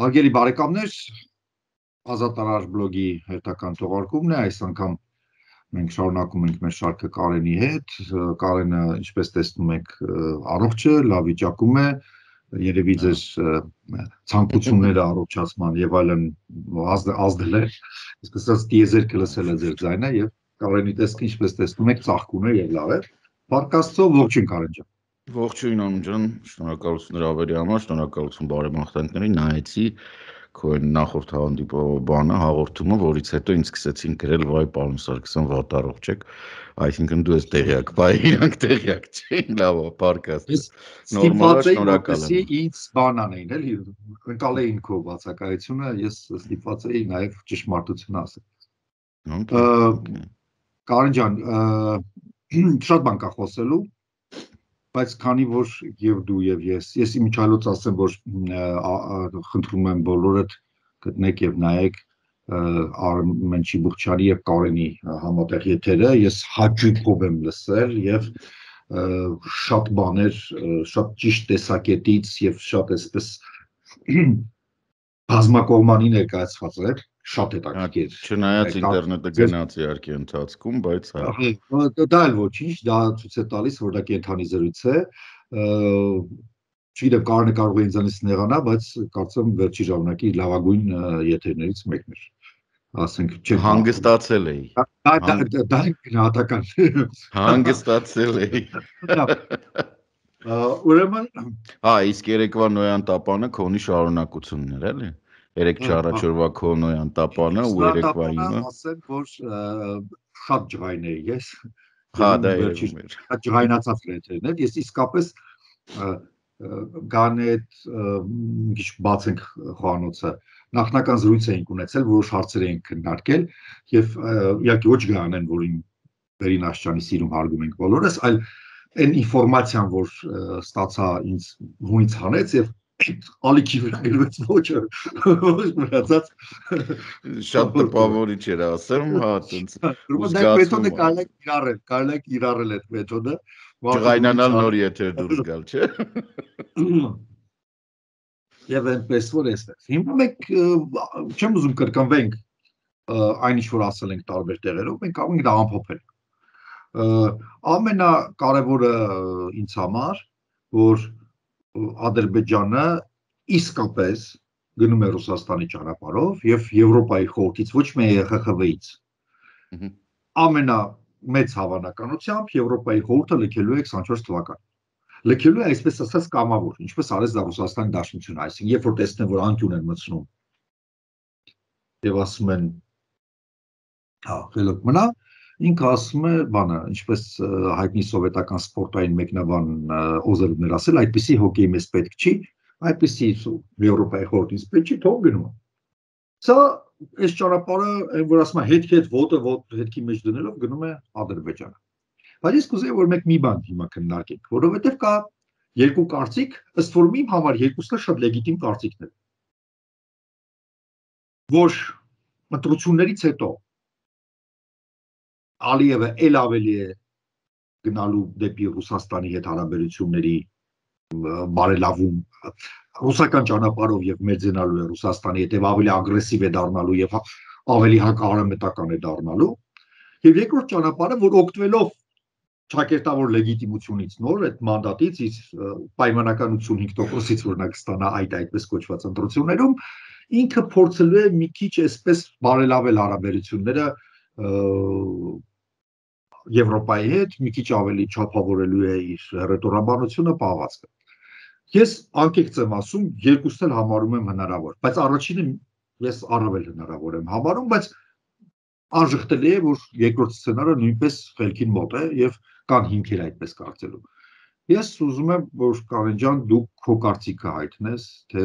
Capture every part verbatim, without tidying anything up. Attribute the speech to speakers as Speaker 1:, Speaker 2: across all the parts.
Speaker 1: Հարգելի բարեկամներ, Ազատ Արար բլոգի հերթական թողարկումն է, այս անգամ մենք շարունակում ենք մեր շարքը Կարենի հետ, Կարենը ինչպես տեսնում եք առողջ է, լավ վիճակում է, երևի ձեզ ցանկությունները առողջացման եւ այլն ազդել է, այսպես ասած տիեզերքը լսել է ձեր ձայնը եւ Կարենի տեսքը ինչպես տեսնում եք ծաղկուն է եւ լավ է, Փառք Աստծո, ողջույն Կարեն ջան։
Speaker 2: Ողջույն Անում ջան, շնորհակալություն հրավերի համար, շնորհակալություն բարեմաղթանքներին, նայեցի քո նախորդ հանդիպումը, հաղորդումը, որից հետո ինձ սկսեցին գրել, վայ պարոն Սարգսյան, վատ առողջ եք, այսինքն դու ես տեղյակ, բայ իրանք տեղյակ չէին, լավ է, Փառք Աստծո։
Speaker 1: Նորմալ է, շնորհակալ եմ։ Ինձ բան անեին, էլի, ընկալեին քո բացակայությունը, ես ստիպված էի նաև ճշմարտություն ասել։ Կարեն ջան, շատ բան կա խոսելու, բայց քանի որ եւ դու եւ ես, ես իմիջիայլոց ասեմ, որ խնդրում եմ բոլորդ գտնեք եւ նայեք Արմեն Չիբուխչյանի եւ Կարենի համատեղ եթերը, ես հաճույքով եմ լսել եւ շատ բաներ, շատ ճիշտ տեսակետից եւ շատ այսպես բազմակողմանի ներկայացված էր, շատ հետաքրքիր։
Speaker 2: Չնայած ինտերնետը գնաց իհարկե ընթացքում, բայց
Speaker 1: հա։ Դա էլ ոչինչ, դա ցույց է տալիս, որ դա կենթանի զրույց է։ Չգիտեմ, Կարենը կարող է ինձանից նեղանա, բայց կարծեմ վերջի ժամանակի լավագույն եթերներից մեկն էր։ Ասենք,
Speaker 2: չեմ հանգստացել էի։
Speaker 1: Դա գնահատական։
Speaker 2: Հանգստացել էի։
Speaker 1: Ուրեմն,
Speaker 2: հա, իսկ երեկվա Նոյան տապանը քոնի շարունակությունն էր, էլի։ Երեք չառաջորվա քո Նոյան տապանը ու երեկվա իմը։
Speaker 1: Ասեմ, որ շատ ջղայն էի ես։
Speaker 2: Հա, դա երևում էր։
Speaker 1: Ջղայնացած եթերն էր։ Ես իսկապես գան այդ մի քիչ բացենք խոհանոցը նախնական զրույց էինք ունեցել, որոշ հարցեր էինք քննարկել եւ իհարկե ոչ գանեն, որին Վերին Աշճանի սիրում հարգում ենք բոլորս, այլ այն ինֆորմացիան, որ ստացա ինձ հունից հանեց եւ ալիքի վրա գրվեց ոչը, ոչ մնացած
Speaker 2: շատ տպավորիչ էր ասեմ, հա, տենց
Speaker 1: զգացում։ Մեթոդը կարելի է կիրառել, կարելի է կիրառել այդ մեթոդը։
Speaker 2: Ջղայնանալ նոր եթեր դուրս գալ, չէ՞։
Speaker 1: Եվ այնպես որ էստեղ։ Հիմա մենք չեմ ուզում կրկնվենք այն ինչ որ ասել ենք տարբեր տեղերով, մենք կարող ենք դա ամփոփել։ Ամենակարևորը ինձ համար, որ Ադրբեջանը իսկապես գնում է Ռուսաստանի ճանապարհով եւ Եվրոպայի խորհրդից, ոչ միայն Է Խ Խ V-ից։ Ամենամեծ հավանականությամբ Եվրոպայի խորհուրդը լքելու է քսանչորս թվականին։ Լքելու է այսպես ասած կամավոր, ինչպես արեց դա Ռուսաստանի Դաշնությունը, այսինքն երբ որ տեսնեն, որ անկյուն են մտցնում եւ ասում են հա, խելոք մնա, ինքը ասում է, բանը, ինչպես հայտնի սովետական սպորտային մեկնաբան Օզելովն էր ասել, այդպիսի հոկեյ մեզ պետք չի, այդպիսի Եվրոպայի խորհրդից պետք չի, թող գնում։ Սա այս ճանապարհը, այն որ ասում է հետք հետ ոտը ոտ հետքի մեջ դնելով գնում է Ադրբեջանը։ Բայց ես կուզեի, որ մենք մի բան հիմա քննարկենք, որովհետև կա երկու կարծիք, ըստ որում իմ համար երկուսն էլ շատ լեգիտիմ կարծիքներ են։ Որ ընտրություններից հետո Ալիևը ել ավելի է գնալու դեպի Ռուսաստանի հետ հարաբերությունների բարելավում, ռուսական ճանապարհով եւ մեծենալու է Ռուսաստանի հետ եւ ավելի ագրեսիվ է դառնալու եւ ավելի հակահարամետական է դառնալու։ Եվ երկրորդ ճանապարհը, որ օգտվելով ճակերտավոր լեգիտիմությունից նոր այդ մանդատից ից պայմանական ութսունհինգ տոկոսից որ նա կստանա այդ այդպես կոչված ընտրություններում, ինքը փորձելու է մի քիչ այսպես բարելավել հարաբերությունները Եվրոպայի հետ, մի քիչ ավելի չափավորելու է իր հռետորաբանությունը, պահվածքը։ Ես անկեղծ եմ ասում, երկուսն էլ համարում եմ հնարավոր, բայց առաջինը ես առավել հնարավոր եմ համարում, բայց անժխտելի է, որ երկրորդ սցենարը նույնպես խելքին մոտ է եւ կան հիմքեր այդպես կարծելու։ Ես ուզում եմ, որ Կարեն ջան, դու քո կարծիքը հայտնես, թե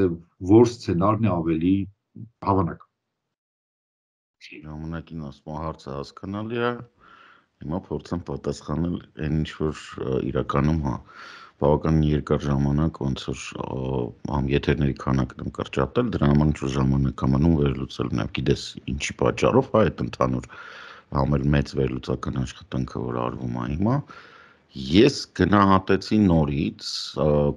Speaker 1: որ սցենարն է ավելի հավանական։
Speaker 2: Ժամանակին ասում հարցը հասկանալի է, հիմա փորձեմ պատասխանել այն ինչ որ իրականում հա բավականին երկար ժամանակ ոնց որ ամ եթերների քանակն եմ կրճատել, դրա համար ինչ որ ժամանակ է մնում վերլուծել, նաև գիտես ինչի պատճառով հա այդ ընդհանուր համել մեծ վերլուծական աշխատանքը որ արվում է հիմա Ես գնահատեցի նորից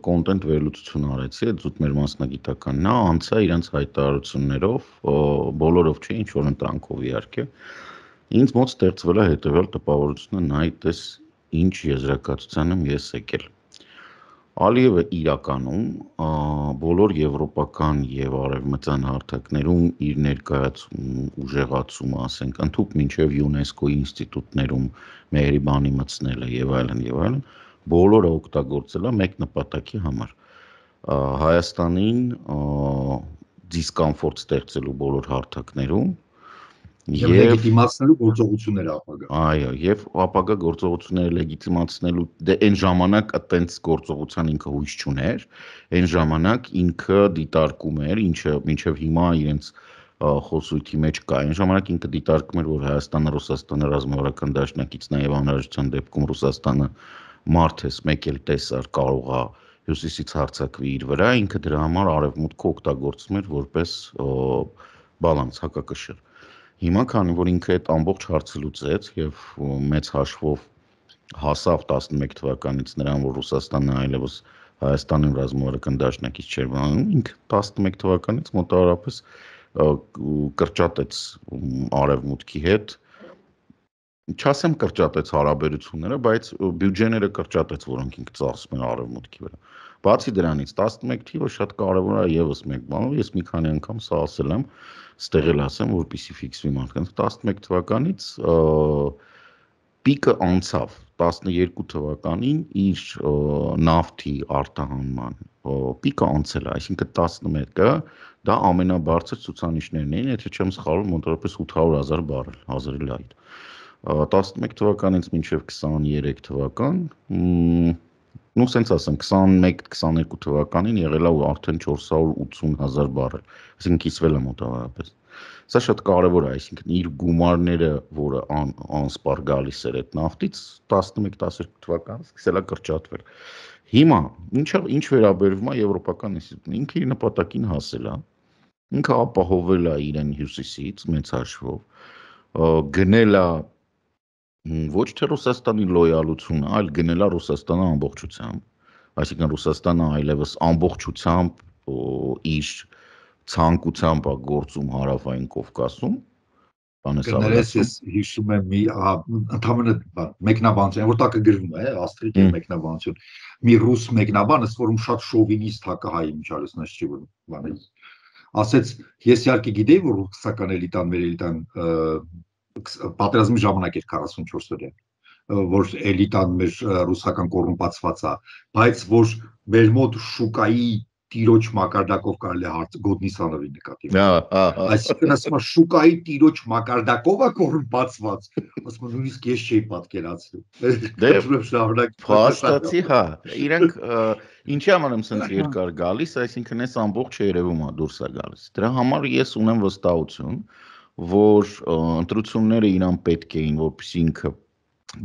Speaker 2: կոնտենտ վերլուծություն արեցի, այդ զուտ մեր մասնագիտականն է, անցա իրենց հայտարարություններով, բոլորով չէ, ինչ որ ընտրանքով իհարկե։ Ինձ մոտ ստեղծվել է հետևյալ տպավորությունը, նայ տես ինչ եզրակացության եմ ես եկել։ Ալիևը իրականում բոլոր եվրոպական եւ արևմտյան հարթակներում իր ներկայացում ուժեղացումը, ասենք, ընդհանուր մինչեւ ՅՈՒՆԵՍԿՕ-ի ինստիտուտներում մեղրիբանի մտցնելը եւ այլն եւ այլն, բոլորը օգտագործել է մեկ նպատակի համար։ Հայաստանին դիսկոմֆորտ ստեղծելու բոլոր հարթակներում
Speaker 1: Եվ լեգիտիմացնելու գործողությունները ապագա։
Speaker 2: Այո, եւ ապագա գործողությունները լեգիտիմացնելու դե այն ժամանակ այտենց գործողության ինքը հույս չուներ, այն ժամանակ ինքը դիտարկում էր, ինչը մինչեւ հիմա իրենց խոսույթի մեջ կա, այն ժամանակ ինքը դիտարկում էր, որ Հայաստանը Ռուսաստանը ռազմավարական դաշնակիցն է եւ անհրաժեշտության դեպքում Ռուսաստանը մարդես մեկ էլ տեսար կարող է հյուսիսից հարձակվի իր վրա, ինքը դրա համար արևմուտքը օգտագործում էր որպես բալանս հակակշիռ։ Հիմա քանի որ ինքը այդ ամբողջ հարցը լուծեց եւ մեծ հաշվով հասավ տասնմեկ թվականից նրան, որ Ռուսաստանը այլևս Հայաստանում ռազմավարական դաշնակից չէր մնում, ինքը տասնմեկ թվականից մոտավորապես կրճատեց արևմուտքի հետ, չասեմ կրճատեց հարաբերությունները, բայց բյուջեները կրճատեց, որոնք ինքը ծախսում էր արևմուտքի վրա։ Բացի դրանից տասնմեկ թիվը շատ կարևոր է եւս մեկ բանով, ես մի քանի անգամ սա ասել եմ, ստեղ էլ ասեմ, որպեսզի ֆիքսվի մարդկանց, տասնմեկ թվականից պիկը անցավ, տասներկու թվականին իր նավթի արտահանման պիկը անցել է, այսինքն տասնմեկը դա ամենաբարձր ցուցանիշներն էին, եթե չեմ սխալվում, մոտավորապես ութ հարյուր հազար բարել, հազարի լայր։ տասնմեկ թվականից մինչև քսաներեք թվական, նու սենց ասեմ, քսանմեկ քսաներկու թվականին եղել է արդեն չորս հարյուր ութուն հազար բարել, այսինքն կիսվել է մոտավորապես։ Սա շատ կարևոր է, այսինքն իր գումարները, որը անսպառ գալիս էր այդ նավթից, տասնմեկ տասներկու թվականից սկսել է կրճատվել։ Հիմա ինչ վերաբերվում է եվրոպական ինստիտուտին, ինքը իր նպատակին հասել է, ինքը ապահովել է իրեն հյուսիսից մեծ հաշվով, գնել է ոչ թե Ռուսաստանի լոյալությունը, այլ գնել է Ռուսաստանը ամբողջությամբ, այսինքն Ռուսաստանը այլևս ամբողջությամբ իր ցանկությամբ է գործում հարավային Կովկասում,
Speaker 1: Կներես ես հիշում եմ մի ընդհանրապես մեկնաբանություն, որ տակը գրվում է, աստրիկ է մեկնաբանություն, մի ռուս մեկնաբան, ըստ որում շատ շովինիստ հակահայ միջալուսնաց չի բանը, ասեց, ես իհարկե գիտեի, որ ռուսական էլիտան, մեր էլիտան պատերազմի ժամանակ էր քառասունչորս օրյա, որ էլիտան մեր ռուսական կոռումպացված է, բայց որ մեր մոտ շուկայի տիրոջ մակարդակով կարելի է գոտնի սանրի նկատի։ Այսինքն ասում եմ շուկայի տիրոջ մակարդակով է կոռումպացված, ասում եմ նույնիսկ ես չէի պատկերացնում։
Speaker 2: Դե փաստացի, հա, իրանք ինչի համար եմ սենց երկար գալիս, այսինքն այս ամբողջ երևում է դուրս է գալիս։ Դրա համար ես ունեմ վստահություն, որ ընտրությունները իրան պետք էին, որպեսզի ինքը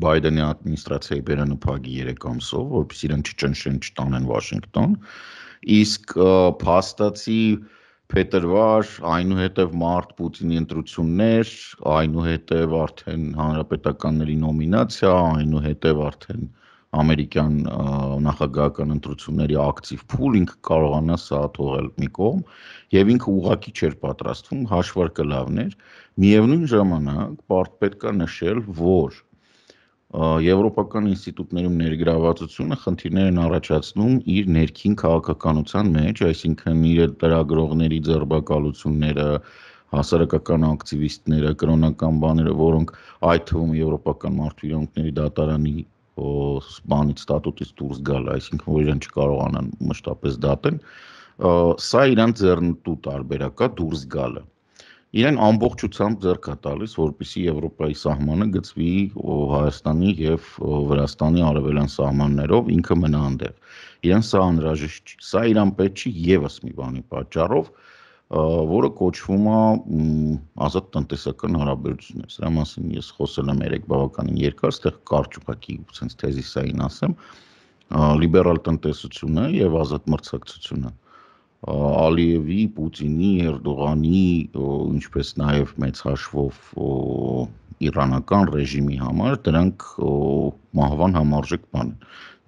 Speaker 2: Բայդենի ադմինիստրացիայի բերանփակի երեք ամսով, որպեսզի իրեն չճնշեն, չտանեն Վաշինգտոն, իսկ փաստացի փետրվար, այնուհետև մարտ Պուտինի ընտրություններ, այնուհետև արդեն հանրապետականների նոմինացիա, այնուհետև արդեն ամերիկյան նախագահական ընտրությունների ակտիվ փուլ, ինքը կարողանա սա թողել մի կողմ, եւ ինքը ուղղակի չէր պատրաստվում, հաշվարկը լավն էր, միևնույն ժամանակ պետք է նշել, որ եվրոպական ինստիտուտներում ներգրավվածությունը խնդիրներ են առաջացնում իր ներքին քաղաքականության մեջ, այսինքն իր լրագրողների ձերբակալությունները, հասարակական ակտիվիստները, կրոնական բաները, որոնք այդ թվում եվրոպական մարդու իրավունքների դատարանի բանից ստատուտից դուրս գալ, այսինքն որ իրեն չկարողանան մշտապես դատեն, սա իրանց ձեռնտու տարբերակ է դուրս գալը։ Իրեն ամբողջությամբ ձեռք է տալիս, որպեսզի Եվրոպայի սահմանը գծվի Հայաստանի եւ Վրաստանի արևելյան սահմաններով, ինքը մնա այնտեղ։ Իրեն սա անհրաժեշտ չի։ Սա իրան պետք չի եւս մի բանի պատճառով, որը կոչվում է ազատ տնտեսական հարաբերություններ։ Սրա մասին ես խոսել եմ երեք բավականին երկար, այստեղ կարճ ուղղակի sense թեզիսային ասեմ, լիբերալ տնտեսությունը եւ ազատ մրցակցությունը Ալիևի, Պուտինի, Էրդողանի, ինչպես նաև մեծ հաշվով իրանական ռեժիմի համար դրանք մահվան համարժեք բան են։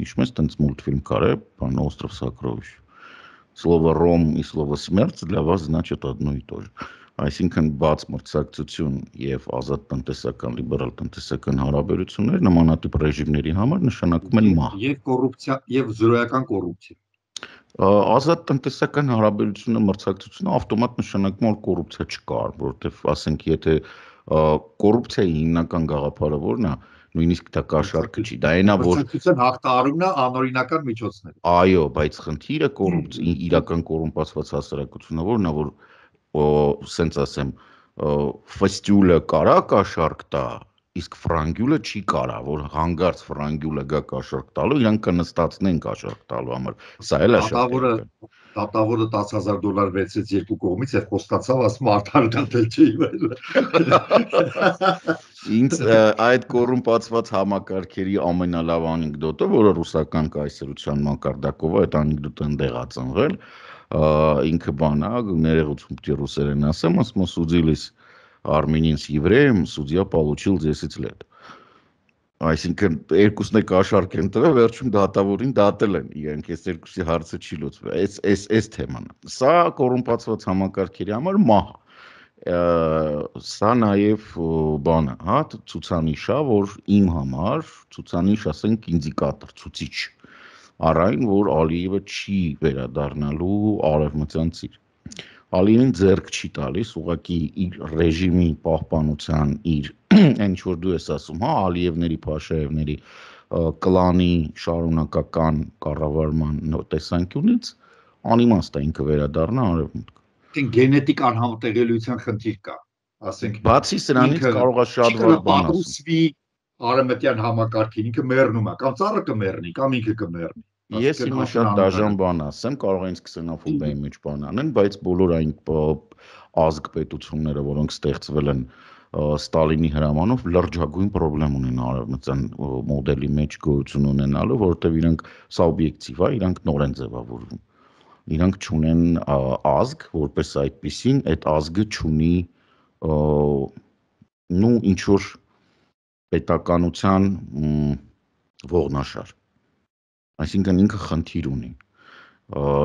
Speaker 2: Ինչպես տենց մուլտֆիլմ կար է, բան Остров сокровищ. Слово «ром» и слово «смерть» для вас значит одно и то же. Այսինքն բաց մրցակցություն եւ ազատ տնտեսական լիբերալ տնտեսական հարաբերություններ նմանատիպ ռեժիմների համար նշանակում են մահ։
Speaker 1: Եվ կոռուպցիա եւ զրոյական կոռուպցիա։
Speaker 2: Ազատ տնտեսական հարաբերությունը մրցակցությունը ավտոմատ նշանակում որ կոռուպցիա չկար, որովհետեւ ասենք եթե կոռուպցիայի հիմնական գաղափարը որն է, նույնիսկ դա կաշառքը չի, դա այնա որ
Speaker 1: մրցակցության հաղթահարումն է անօրինական միջոցները։
Speaker 2: Այո, բայց խնդիրը կոռուպցիա, իրական կոռումպացված հասարակությունը որն է, որ սենց ասեմ, ֆստյուլը կարա կաշառք տա, իսկ ֆրանգյուլը չի կարա, որ հանգարց ֆրանգյուլը գա կաշառք տալու, իրանք կնստացնեն կաշառք տալու համար։ Սա էլ է շատ
Speaker 1: էական։ Դատավորը տասը հազար դոլար վերցրեց երկու կողմից եւ խոստացավ, ասում արդար դատել չի վել։
Speaker 2: Ինձ այդ կոռումպացված համակարգերի ամենալավ անեկդոտը, որը ռուսական կայսրության մակարդակով է, այդ անեկդոտը ընդեղ է ծնվել, ինքը բան է, ներողություն պիտի ռուսերեն ասեմ, ասում судились армянин с евреем, судья получил десять лет. Այսինքն երկուսն է կաշառք են տվել, վերջում դատավորին դատել են, իրենք այս երկուսի հարցը չի լուծվել։ Այս այս այս թեման։ Սա կոռումպացված համակարգերի համար մահ։ Սա նաև բանը, հա, ցուցանիշ է, որ իմ համար ցուցանիշ, ասենք, ինդիկատոր, ցուցիչ։ Առայն որ Ալիևը չի վերադառնալու արևմտյան ծիր։ Ալիևին ձեռք չի տալիս, ուղղակի իր ռեժիմի պահպանության, իր այն ինչ որ դու ես ասում, հա, Ալիևների, Փաշաևների կլանի շարունակական կառավարման տեսանկյունից անիմաստ է ինքը վերադառնա արևմուտք։
Speaker 1: Գենետիկ անհամատեղելիության խնդիր կա, ասենք։
Speaker 2: Բացի սրանից կարող է շատ վատ բան
Speaker 1: ասում։ Արևմտյան համակարգին ինքը մեռնում է, կամ ծառը կմեռնի, կամ ինքը կմեռնի։
Speaker 2: Ես հիմա շատ դաժան բան ասեմ, կարող է ինձ քսենոֆոբիայի մեջ բան անեն, բայց բոլոր այն ազգ պետությունները, որոնք ստեղծվել են Ստալինի հրամանով, լրջագույն խնդրեմ ունեն արևմտյան մոդելի մեջ գոյություն ունենալու, որովհետև իրանք սա օբյեկտիվ է, իրանք նոր են ձևավորվում։ Իրանք չունեն ազգ, որպես այդպեսին, այդ ազգը չունի նու ինչ որ պետականության ողնաշար։ Այսինքն ինքը խնդիր ունի։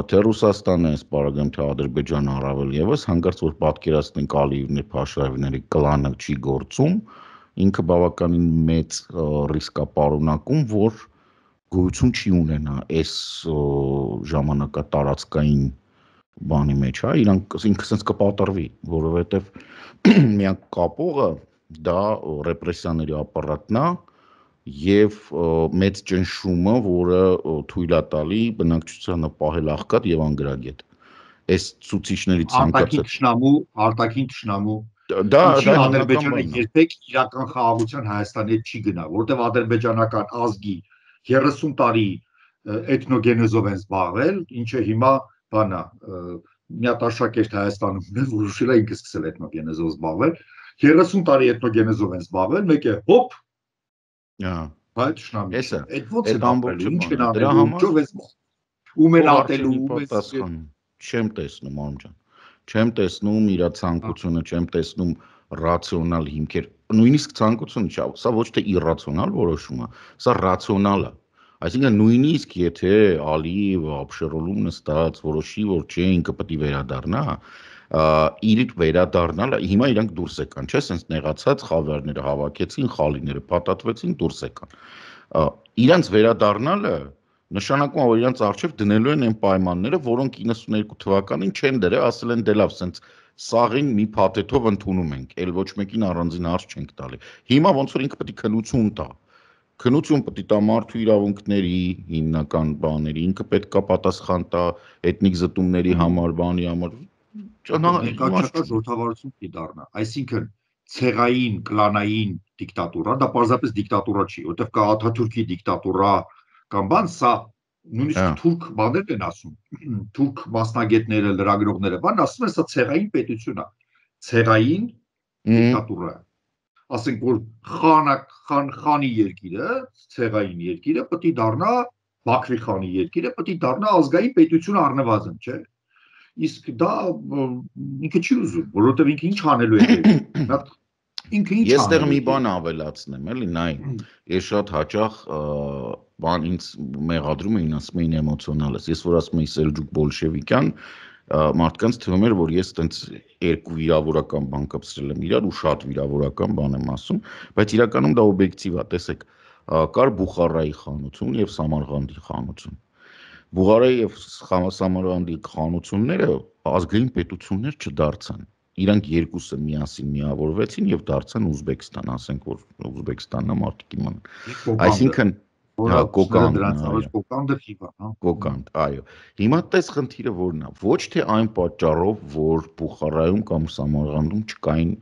Speaker 2: Թե Ռուսաստանը, սպարագեմ, թե Ադրբեջանը առավել եւս, հանկարծ որ պատկերացնենք Ալիևների, Փաշաևների կլանը չի գործում, ինքը բավականին մեծ ռիսկ է պարունակում, որ գոյություն չի ունենա այս ժամանակատարածքային բանի մեջ, հա, իրանք ինքը sense կպատռվի, որովհետեւ միակ կապողը դա ռեպրեսիաների ապարատն է եւ մեծ ճնշումը, որը թույլ է տալի բնակչությանը պահել աղքատ եւ անգրագետ։ Այս ցուցիչների ցանկացած
Speaker 1: արտաքին թշնամու, արտաքին թշնամու
Speaker 2: դա
Speaker 1: դա Ադրբեջանը երբեք իրական խաղաղության Հայաստանի հետ չի գնա, որտեղ ադրբեջանական ազգի երեսուն տարի էթնոգենեզով են զբաղվել, ինչը հիմա բանա մի հատ աշակերտ Հայաստանում ունեն, որ ուշել է ինքը սկսել էթնոգենեզով զբաղվել, երեսուն տարի էթնոգենեզով են զբաղվել, մեկը հոպ Այդ շնամի։ Այդ ո՞նց է ապրելու, ինչ են անելու, ինչով է ում են ատելու,
Speaker 2: ում չեմ տեսնում, մամ ջան։ Չեմ տեսնում իր ցանկությունը, չեմ տեսնում ռացիոնալ հիմքեր։ Նույնիսկ ցանկությունը չէ, սա ոչ թե իռացիոնալ որոշում է, սա ռացիոնալ է։ Այսինքն նույնիսկ եթե Ալիևը ապշերոլում նստած որոշի, որ չէ, ինքը պետք է վերադառնա, իր վերադառնալը հիմա իրանք դուրս եկան, չէ՞, sense նեղացած խավարները հավաքեցին, խալիները փաթաթվեցին, դուրս եկան։ Իրանց վերադառնալը նշանակում է, որ իրանց արժև դնելու են այն պայմանները, որոնք իննսուններկու թվականին չեն դրել, ասել են դե լավ, sense սաղին մի փաթեթով ընդունում ենք, ել ոչ մեկին առանձին հարց չենք տալի։ Հիմա ոնց որ ինքը պետք է քնություն տա։ Քնություն պետք է տա մարդու իրավունքների հիմնական բաների, ինքը պետք է պատասխան տա էթնիկ զտումների համար, բանի համար
Speaker 1: Ներկայացած ժողովրդավարություն չի դառնա, այսինքն ցեղային, կլանային դիկտատուրա, դա պարզապես դիկտատուրա չի, որտեղ կա Աթաթուրքի դիկտատուրա կամ բան, սա նույնիսկ թուրք բաներն են ասում, թուրք մասնագետները, լրագրողները, բան ասում են, սա ցեղային պետություն է, ցեղային դիկտատուրա։ Ասենք որ խանա խան խանի երկիրը, ցեղային երկիրը պետք է դառնա Բաքվի խանի երկիրը, պետք է դառնա ազգային պետություն առնվազն, չէ՞։ Իսկ դա ինքը չի ուզում, որովհետև ինքը ինչ անելու է։ Ինքը ինչ
Speaker 2: Ես տեղ մի
Speaker 1: անելու
Speaker 2: բան ավելացնեմ, էլի, նայ, ես շատ հաճախ բան ինձ մեղադրում էին, ասում էին էմոցիոնալ ես։ Ես որ ասում էի Սելջուկ բոլշևիկյան, մարդկանց թվում էր, որ ես տենց երկու վիրավորական բան կապսրել եմ իրար ու շատ վիրավորական բան եմ ասում, բայց իրականում դա օբյեկտիվ է, տեսեք, կար Բուխարայի խանություն եւ Սամարղանդի խանություն։ Բուխարայի եւ Սամարղանդի խանությունները ազգային պետություններ չդարձան։ Իրանք երկուսը միասին միավորվեցին եւ դարձան Ուզբեկստան, ասենք որ Ուզբեկստանն է մարդիկ իման։ Այսինքն հա կոկանդ
Speaker 1: դրանց կոկանդը խիվա, հա։
Speaker 2: Կոկանդ, այո։ Հիմա տես խնդիրը որն է։ Ոչ թե այն պատճառով, որ Բուխարայում կամ Սամարղանդում չկային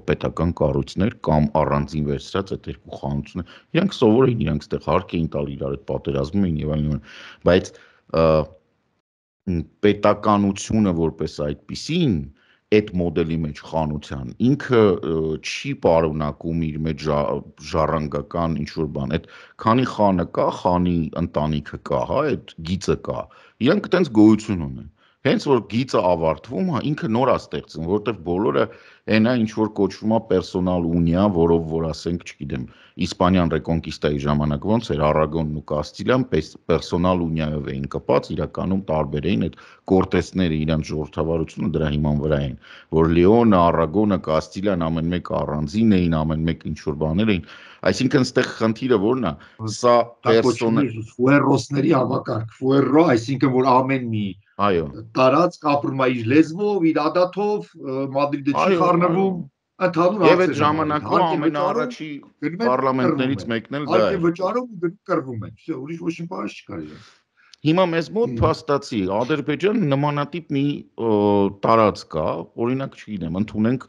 Speaker 2: պետական կառույցներ կամ առանձին վերցրած այդ երկու խանությունները, իրանք սովոր էին, իրանք ստեղ հարկ էին տալ իրար այդ պատերազմում էին եւ այլն, բայց պետականությունը որպես այդպիսին այդ մոդելի մեջ խանության ինքը չի պարունակում իր մեջ ժառանգական ինչ-որ բան, այդ քանի խանը կա, խանի ընտանիքը կա, հա, այդ գիծը կա, իրանք այտենց գոյություն ունեն։ Հենց որ գիծը ավարտվում, հա, ինքը նոր է ստեղծում, որովհետև բոլորը այնա ինչ որ կոչվում է պերսոնալ ունիա, որով որ ասենք, չգիտեմ, Իսպանյան ռեկոնկիստայի ժամանակ ոնց էր Արագոնն ու Կաստիլիան պերսոնալ ունիայով էին կպած, իրականում տարբեր էին այդ կորտեսները իրանց ժողովրդավարությունը դրա հիման վրա էին, որ Լեոնը, Արագոնը, Կաստիլիան ամեն մեկ առանձին էին, ամեն մեկ ինչ որ բաներ էին, այսինքն ստեղ խնդիրը որն է, սա
Speaker 1: պերսոնալ ֆուերոսների համակարգ, ֆուերո, այսինքն որ ամեն մի
Speaker 2: այո
Speaker 1: տարածք ապրում է իր լեզվով, իր ադաթով, Մադրիդը չի խառնվում, ընդհանուր
Speaker 2: Եվ այդ ժամանակվա ամենաառաջի պարլամենտներից մեկն էլ դա
Speaker 1: է։ Արկե վճարում ու գնում կռվում են, всё, ուրիշ ոչ մի բան չկար իրեն։
Speaker 2: Հիմա մեզ մոտ փաստացի Ադրբեջանը նմանատիպ մի տարածք կա, օրինակ չգիտեմ, ընդունենք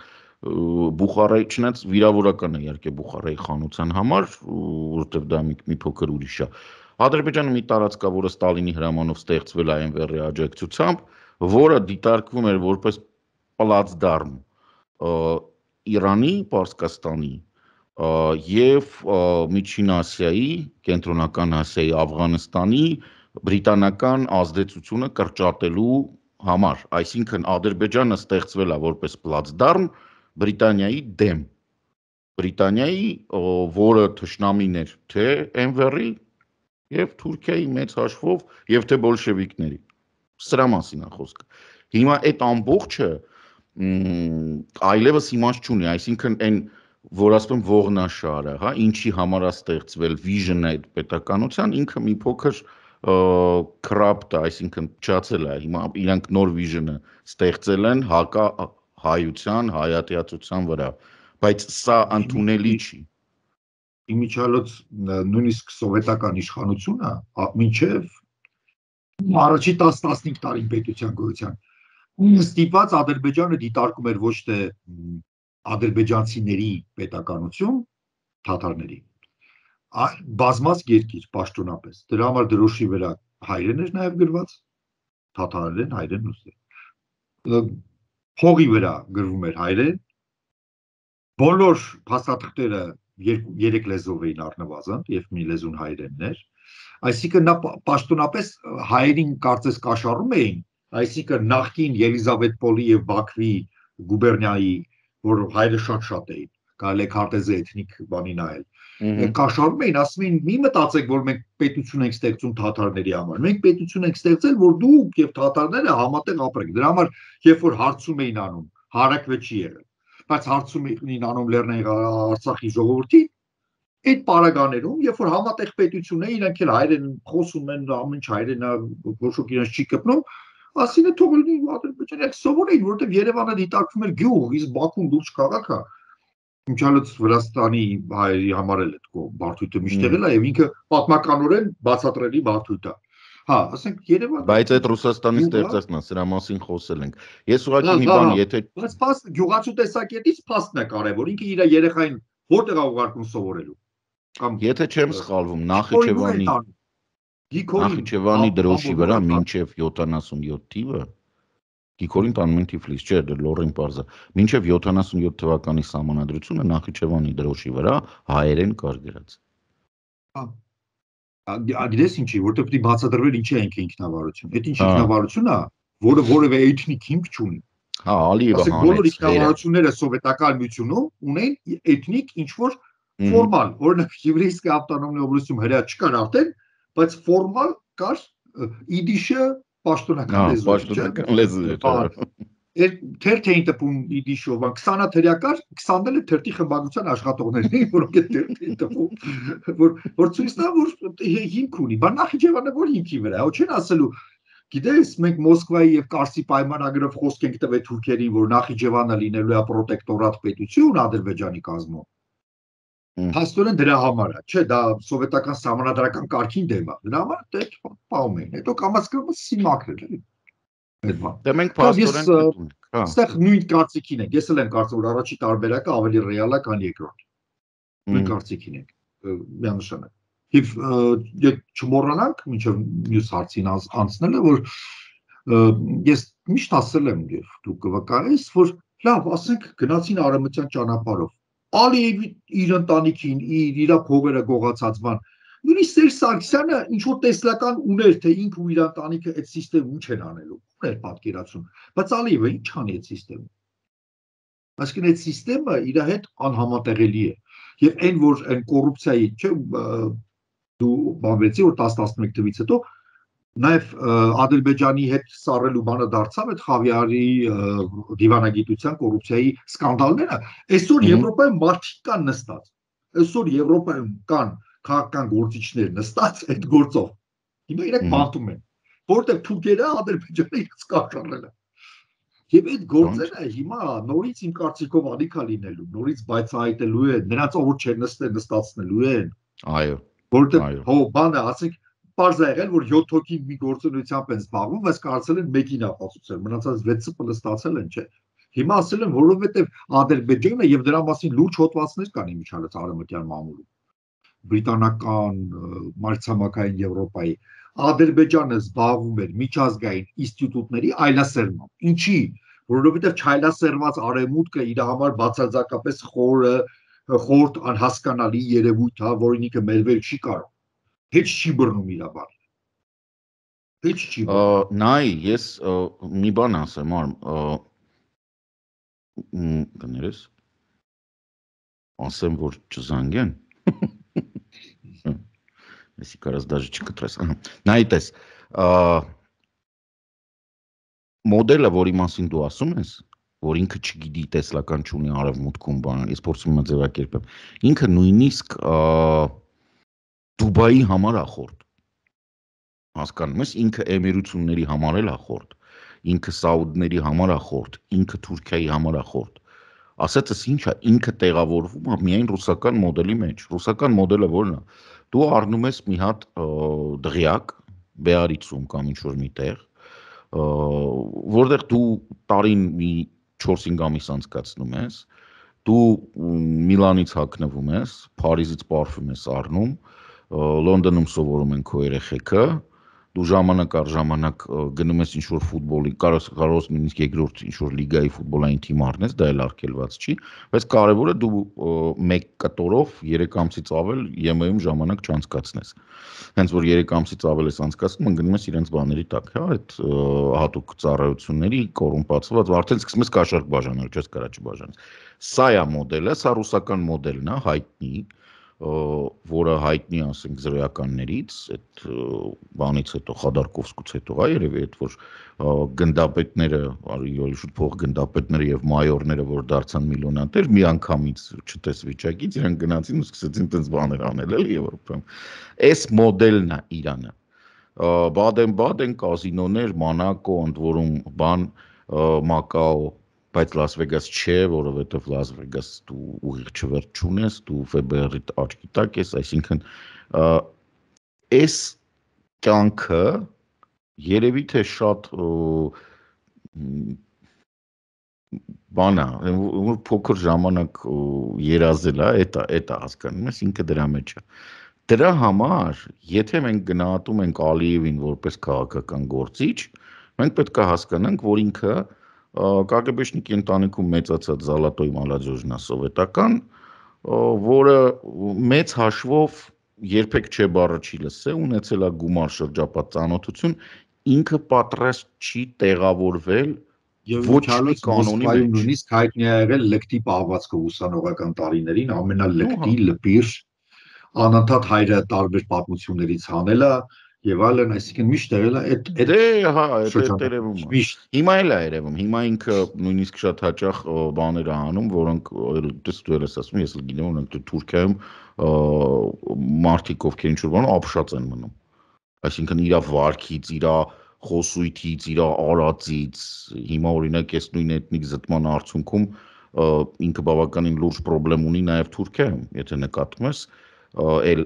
Speaker 2: Բուխարայի, չնայած վիրավորական է իհարկե Բուխարայի խանության համար, որովհետև դա մի փոքր ուրիշ է։ Ադրբեջանը մի տարածք կա, որը Ստալինի հրամանով ստեղծվել է Էնվերի աջակցությամբ, որը դիտարկվում էր որպես պլացդարմ Իրանի, Պարսկաստանի եւ Միջին Ասիայի, Կենտրոնական Ասիայի, Աֆղանստանի բրիտանական ազդեցությունը կրճատելու համար, այսինքն Ադրբեջանը ստեղծվել է որպես պլացդարմ Բրիտանիայի դեմ, Բրիտանիայի, որը թշնամին էր թե Էնվերի եւ Թուրքիայի մեծ հաշվով եւ թե բոլշևիկների։ Սրա մասին է խոսքը։ Հիմա այդ ամբողջը այլևս իմաստ չունի, այսինքն այն որ ասում ողնաշարը, հա, ինչի համար է ստեղծվել vision-ը այդ պետականության, ինքը մի փոքր corrupt, այսինքն փչացել է, հիմա իրանք նոր vision-ը ստեղծել են հակա հայության, հայատյացության վրա, բայց սա ընդունելի չի։
Speaker 1: Իմիջիալոց նույնիսկ սովետական իշխանությունը մինչև առաջի տասն-տասնհինգ տարի պետության գոյության ստիպված Ադրբեջանը դիտարկում էր ոչ թե ադրբեջանցիների պետականություն, թաթարների, այլ բազմած երկիր պաշտոնապես։ Դրա համար դրոշի վրա հայերեն էր նաև գրված, թաթարերեն, հայերեն ռուսերեն։ Փողի վրա գրվում էր հայերեն, բոլոր փաստաթղթերը երեք լեզվով էին առնվազն եւ մի լեզուն հայերենն էր, այսինքն նա պաշտոնապես հայերին կարծես կաշառում էին, այսինքն նախկին Ելիզավետպոլի եւ Բաքվի գուբերնիայի, որ հայերը շատ-շատ էին, կարելի է քարտեզը էթնիկ բանի նայել, կաշառում էին, ասում էին՝ մի մտածեք, որ մենք պետություն ենք ստեղծում թաթարների համար, մենք պետություն ենք ստեղծել, որ դուք եւ թաթարները համատեղ ապրեք։ Դրա համար, երբ որ հարցում էին անում, հարակվե չի եղել, բայց հարցում էին անում Լեռնային Արցախի ժողովրդին, այդ պարագաներում, երբ որ համատեղ պետություն է, իրանք էլ հայերեն խոսում են, ամեն ինչ հայերեն է, ոչ ոք իրենց չի կպնում, ասին է թող լինի Ադրբեջանը, սովոր էին, որովհետև Երևանը դիտարկվում էր գյուղ, իսկ Բաքուն լուրջ քաղաք է։ Ինչալոց Վրաստանի հայերի համար էլ այդ բարդույթը միշտ եղել է եւ ինքը պատմականորեն բացատրելի բարդույթ է։ Հա, ասենք Երևանը
Speaker 2: Բայց այդ Ռուսաստանի ստեղծածն է, սրա մասին խոսել ենք։ Ես ուղղակի մի բան, եթե
Speaker 1: բայց փաստ գյուղացու տեսակետից փաստն է կարևոր, ինքը իր երեխային որտեղ է ուղարկում սովորելու։
Speaker 2: Եթե չեմ սխալվում, Նախիջևանի Նախիջևանի դրոշի վրա մինչև յոթանասունյոթ թիվը Գիգորին տանում են Թիֆլիս, չէ, լոռին պարզա։ Մինչև յոթանասունյոթ թվականի սահմանադրությունը Նախիջևանի դրոշի վրա հայերեն կար գրած։
Speaker 1: Գիտես ինչի, որտեղ պետք է բացատրվել ինչի է ինքնավարություն։ Այդ ինչ ինքնավարություն է, որը որևէ էթնիկ հիմք չունի։
Speaker 2: Հա, Ալիևը
Speaker 1: Ասենք բոլոր
Speaker 2: հանեց վերը։
Speaker 1: ինքնավարությունները սովետական միությունում ունեն էթնիկ ինչ-որ ֆորմալ, օրինակ Եվրейսկայ ավտոնոմնիա օբլաստում հրա չկար արդեն, բայց ֆորմալ կար իդիշը պաշտոնական
Speaker 2: Հա,
Speaker 1: լեզու էր, չէ՞։
Speaker 2: պաշտոնական լեզու էր։
Speaker 1: Թերթ էին տպում իդիշով, քսանաթերյա կար, քսաները թերթի խմբագրության աշխատողներ էին, որոնք այդ թերթ էին տպում, որ որ ցույց տա որ հիմք ունի, բան Նախիջևանը որ հիմքի վրա, հո չեն ասելու, գիտես, մենք Մոսկվայի եւ Կարսի պայմանագրով խոսք ենք տվել թուրքերին, որ Նախիջևանը լինելու է պրոտեկտորատ պետություն Ադրբեջանի կազմում։ Հաստորեն դրա համար է, չէ, դա սովետական սահմանադրական կարգին դեմ է։ Դրա համար դե պահում էին։ Հետո կամաց կամաց սիմակրել էլի։
Speaker 2: Դե մենք փաստորեն
Speaker 1: պետք ենք, հա։ Այստեղ նույն կարծիքին ենք։ Ես էլ եմ կարծում, որ առաջի տարբերակը ավելի ռեալ է, քան երկրորդ։ Նույն կարծիքին ենք։ Միանշանակ։ Եվ եթե չմոռանանք, մինչև մյուս հարցին անցնելը, որ ես միշտ ասել եմ եւ դուք կվկայես, որ լավ, ասենք գնացին արևմտյան ճանապարհով։ Ալիևի իր ընտանիքին, իր իր փողերը գողացած բան։ Նույնիսկ Սերժ Սարգսյանը ինչ որ տեսլական ուներ, թե ինքը ու իր ընտանիքը այդ համակարգը ինչ են անելու։ Ուներ պատկերացում, բայց Ալիևը ինչ անի այդ համակարգը։ Այսինքն այդ համակարգը իր հետ անհամատեղելի է։ Եվ այն որ այն կոռուպցիայի, չէ, դու բանվեցի որ տասը տասնմեկ թվից հետո նաև Ադրբեջանի հետ սառելու բանը դարձավ այդ Խավիարի դիվանագիտության կոռուպցիայի սկանդալները, այսօր Եվրոպայում մարդիկ կան նստած, այսօր Եվրոպայում կան քաղաքական գործիչներ նստած այդ գործով, հիմա իրենք մատում են, որտեղ թուրքերը Ադրբեջանը իրենց կաշառել են, եւ այդ գործերը հիմա նորից իմ կարծիքով ալիքա լինելու, նորից բայցահայտելու են, նրանց ով չեն նստել նստացնելու են,
Speaker 2: այո,
Speaker 1: որտեղ հո բանը ասենք Պարզ է եղել, որ յոթ հոգի մի գործունեությամբ են զբաղվում, բայց կարծել են մեկին ապացուցել, մնացած վեցը պլստացել են, չէ։ Հիմա ասել են, որովհետև Ադրբեջանը եւ դրա մասին լուրջ հոդվածներ կան իմիջիալից արևմտյան մամուլում, բրիտանական, մայրցամաքային Եվրոպայի, Ադրբեջանը զբաղվում էր միջազգային ինստիտուտների այլասերմամբ։ Ինչի՞, որովհետև չայլասերված արևմուտքը իր համար բացարձակապես խորը, խորտ անհասկանալի երևույթ է, որին ինքը մերվել չի կարող։ Heç չի բռնում իր բանը։ Heç չի բռնում։
Speaker 2: Նայ, ես մի բան ասեմ, արմ, կներես, ասեմ, որ չզանգեն, եսի կարաս դաժի չկտրես, նայ տես, մոդելը, որի մասին դու ասում ես, որ ինքը չգիտի տեսլական չունի արևմուտքում բան, ես փորձում եմ ձևակերպեմ, ինքը նույնիսկ Դուբայի համար ախորդ, հասկանում ես, ինքը էմիրությունների համար էլ ախորդ, ինքը Սաուդների համար ախորդ, ինքը Թուրքիայի համար ախորդ, ասեցս ինչ է, ինքը տեղավորվում է միայն ռուսական մոդելի մեջ, ռուսական մոդելը որն է, դու առնում ես մի հատ դղյակ, Բեարիցում կամ ինչ-որ մի տեղ, որտեղ դու տարին մի չորս-հինգ ամիս անցկացնում ես, դու Միլանից հագնվում ես, Փարիզից պարֆում ես առնում, Լոնդոնում սովորում են քո երեխեքը, դու ժամանակ առ ժամանակ գնում ես ինչ-որ ֆուտբոլի, կարող ես նույնիսկ երկրորդ ինչ-որ լիգայի ֆուտբոլային թիմ առնես, դա էլ արգելված չի, բայց կարևորը դու մեկ կտորով երեք ամսից ավել ԵՄ-ում ժամանակ չանցկացնես։ Հենց որ երեք ամսից ավել ես անցկացնում, գնում ես իրենց բաների տակ, հա, այդ հատուկ ծառայությունների կոռումպացված, արդեն սկսում ես կաշառք բաժանել, չես կարա չբաժանես։ Սա է մոդելը, սա ռուսական մոդելն է, հայտնի, որը հայտնի ասենք զրոյականներից, այդ բանից հետո Խադարկովսկուց հետո է երևի այդ որ գնդապետները, շուտ փող գնդապետները եւ մայորները, որ դարձան միլիոնատեր, մի անգամից չտես վիճակից իրենք գնացին ու սկսեցին տենց բաներ անել էլի Եվրոպայում։ Այս մոդելն է Իրանը։ Բադեն-բադեն կազինոներ, Մոնակո, ընդ որում բան, Մակաո, բայց Լաս Վեգաս չէ, որովհետև Լաս Վեգաս դու ուղիղ չվերջ չունես, դու Էֆ Բի Արի աչքի տակ ես, այսինքն այս կյանքը երևի թե շատ բան է, որ փոքր ժամանակ երազել է, էդ է հասկանում ես, ինքը դրա մեջ է։ Դրա համար, եթե մենք գնահատում ենք Ալիևին որպես քաղաքական գործիչ, մենք պետք է հասկանանք, որ ինքը կագեբեշնիկի ընտանիքում մեծացած Զալատոյ Մալաջոժնա սովետական, որը մեծ հաշվով երբեք չէ բառը չի լսել, ունեցել է գումար շրջապատ ծանոթություն, ինքը պատրաստ չի տեղավորվել ոչ մի կանոնի մեջ։
Speaker 1: Նույնիսկ հայտնի ա եղել լկտի պահվածքով ուսանողական տարիներին, ամենալկտի լպիր անընդհատ հայրը տարբեր պատմություններից հանելա եւ այլն, այսինքն միշտ եղել է այդ այդ
Speaker 2: Դե հա, այդ երևում է։ Հիմա էլ է երևում, հիմա ինքը նույնիսկ շատ հաճախ բաներ է անում, որոնք դες դու ես ասում, ես էլ գիտեմ, որոնք Թուրքիայում մարդիկ ովքեր ինչ-որ բան ապշած են մնում։ Այսինքն իր վարքից, իր խոսույթից, իր արածից, հիմա օրինակ ես նույն էթնիկ զտման արդյունքում ինքը բավականին լուրջ խնդրեմ ունի նաև Թուրքիայում, եթե նկատում ես, էլ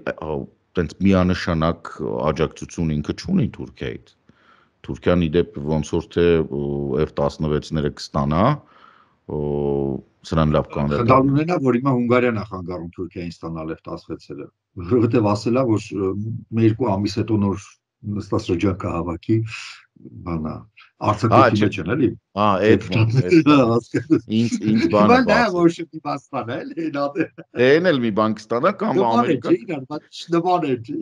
Speaker 2: տենց միանշանակ աջակցություն ինքը չունի Թուրքիայից։ Թուրքիան իդեպ ոնց որ թե F տասնվեցները կստանա, սրան լավ կանել։
Speaker 1: Խնդալ ունենա, որ հիմա Հունգարիան է խանգարում Թուրքիային ստանալ F տասնվեցերը, որովհետև ասել է, որ մի երկու ամիս հետո նոր նստաշրջան կհավաքի, բանա, արձակուրդի մեջ են, էլի։
Speaker 2: Հա, այդ ինձ ինձ բանը
Speaker 1: բաց։ Դա որ շուտի բաստան է, էլի, նա։
Speaker 2: Էն էլ մի բան կստանա կամ Ամերիկա։
Speaker 1: Նման է, չի։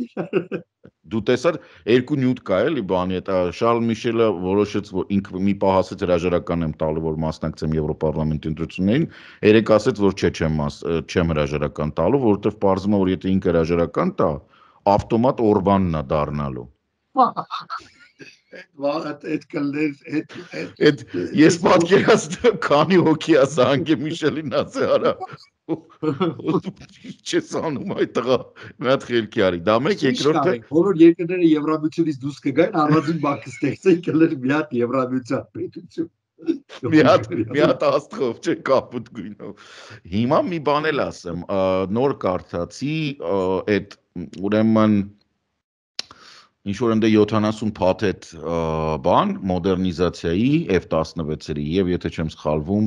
Speaker 2: Դու տեսար երկու նյութ կա էլի բանի հետ, Շարլ Միշելը որոշեց, որ ինքը մի պահ ասեց հրաժարական եմ տալու, որ մասնակցեմ Եվրոպարլամենտի ընտրություններին, երեք ասեց, որ չէ, չեմ չեմ հրաժարական տալու, որովհետև պարզվում է, որ եթե ինքը հրաժարական տա, ավտոմատ Օրբանն է դառնալու։
Speaker 1: Այդ կլներ,
Speaker 2: այդ ես պատկերացնում քանի հոգի է Սանգե Միշելին ասի արա։ Չես անում այդ տղա, մի հատ խելքի արի։ Դա մեկ երկրորդը
Speaker 1: բոլոր երկրները Եվրամիությունից դուրս կգային, առանձին բանկ կստեղծեին, կլներ մի հատ Եվրամիության պետություն։
Speaker 2: Մի հատ մի հատ աստղով, չէ, կապուտ գույնով։ Հիմա մի բան էլ ասեմ, նոր կարդացի այդ ուրեմն ինչ որ ընդ յոթանասուն փաթեթ բան մոդեռնիզացիայի F տասնվեցերի եւ եթե չեմ սխալվում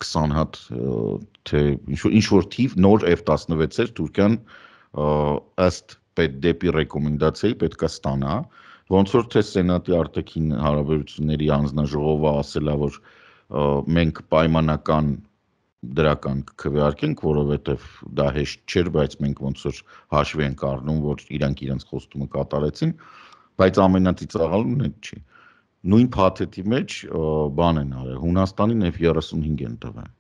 Speaker 2: քսան հատ թե ինչ որ թիվ նոր F տասնվեցեր Թուրքիան ըստ դեպի ռեկոմենդացիայի պետք է ստանա, ոնց որ թե Սենատի արտաքին հարաբերությունների հանձնաժողովը ասել է, որ մենք պայմանական դրական կքվեարկենք, որովհետև դա հեշտ չէր, բայց մենք ոնց որ հաշվի ենք առնում, որ իրանք իրենց խոստումը կատարեցին, բայց ամենածիծաղալուն այդ չի։ Նույն փաթեթի մեջ բան են արել, Հունաստանին F երեսունհինգ են տվել։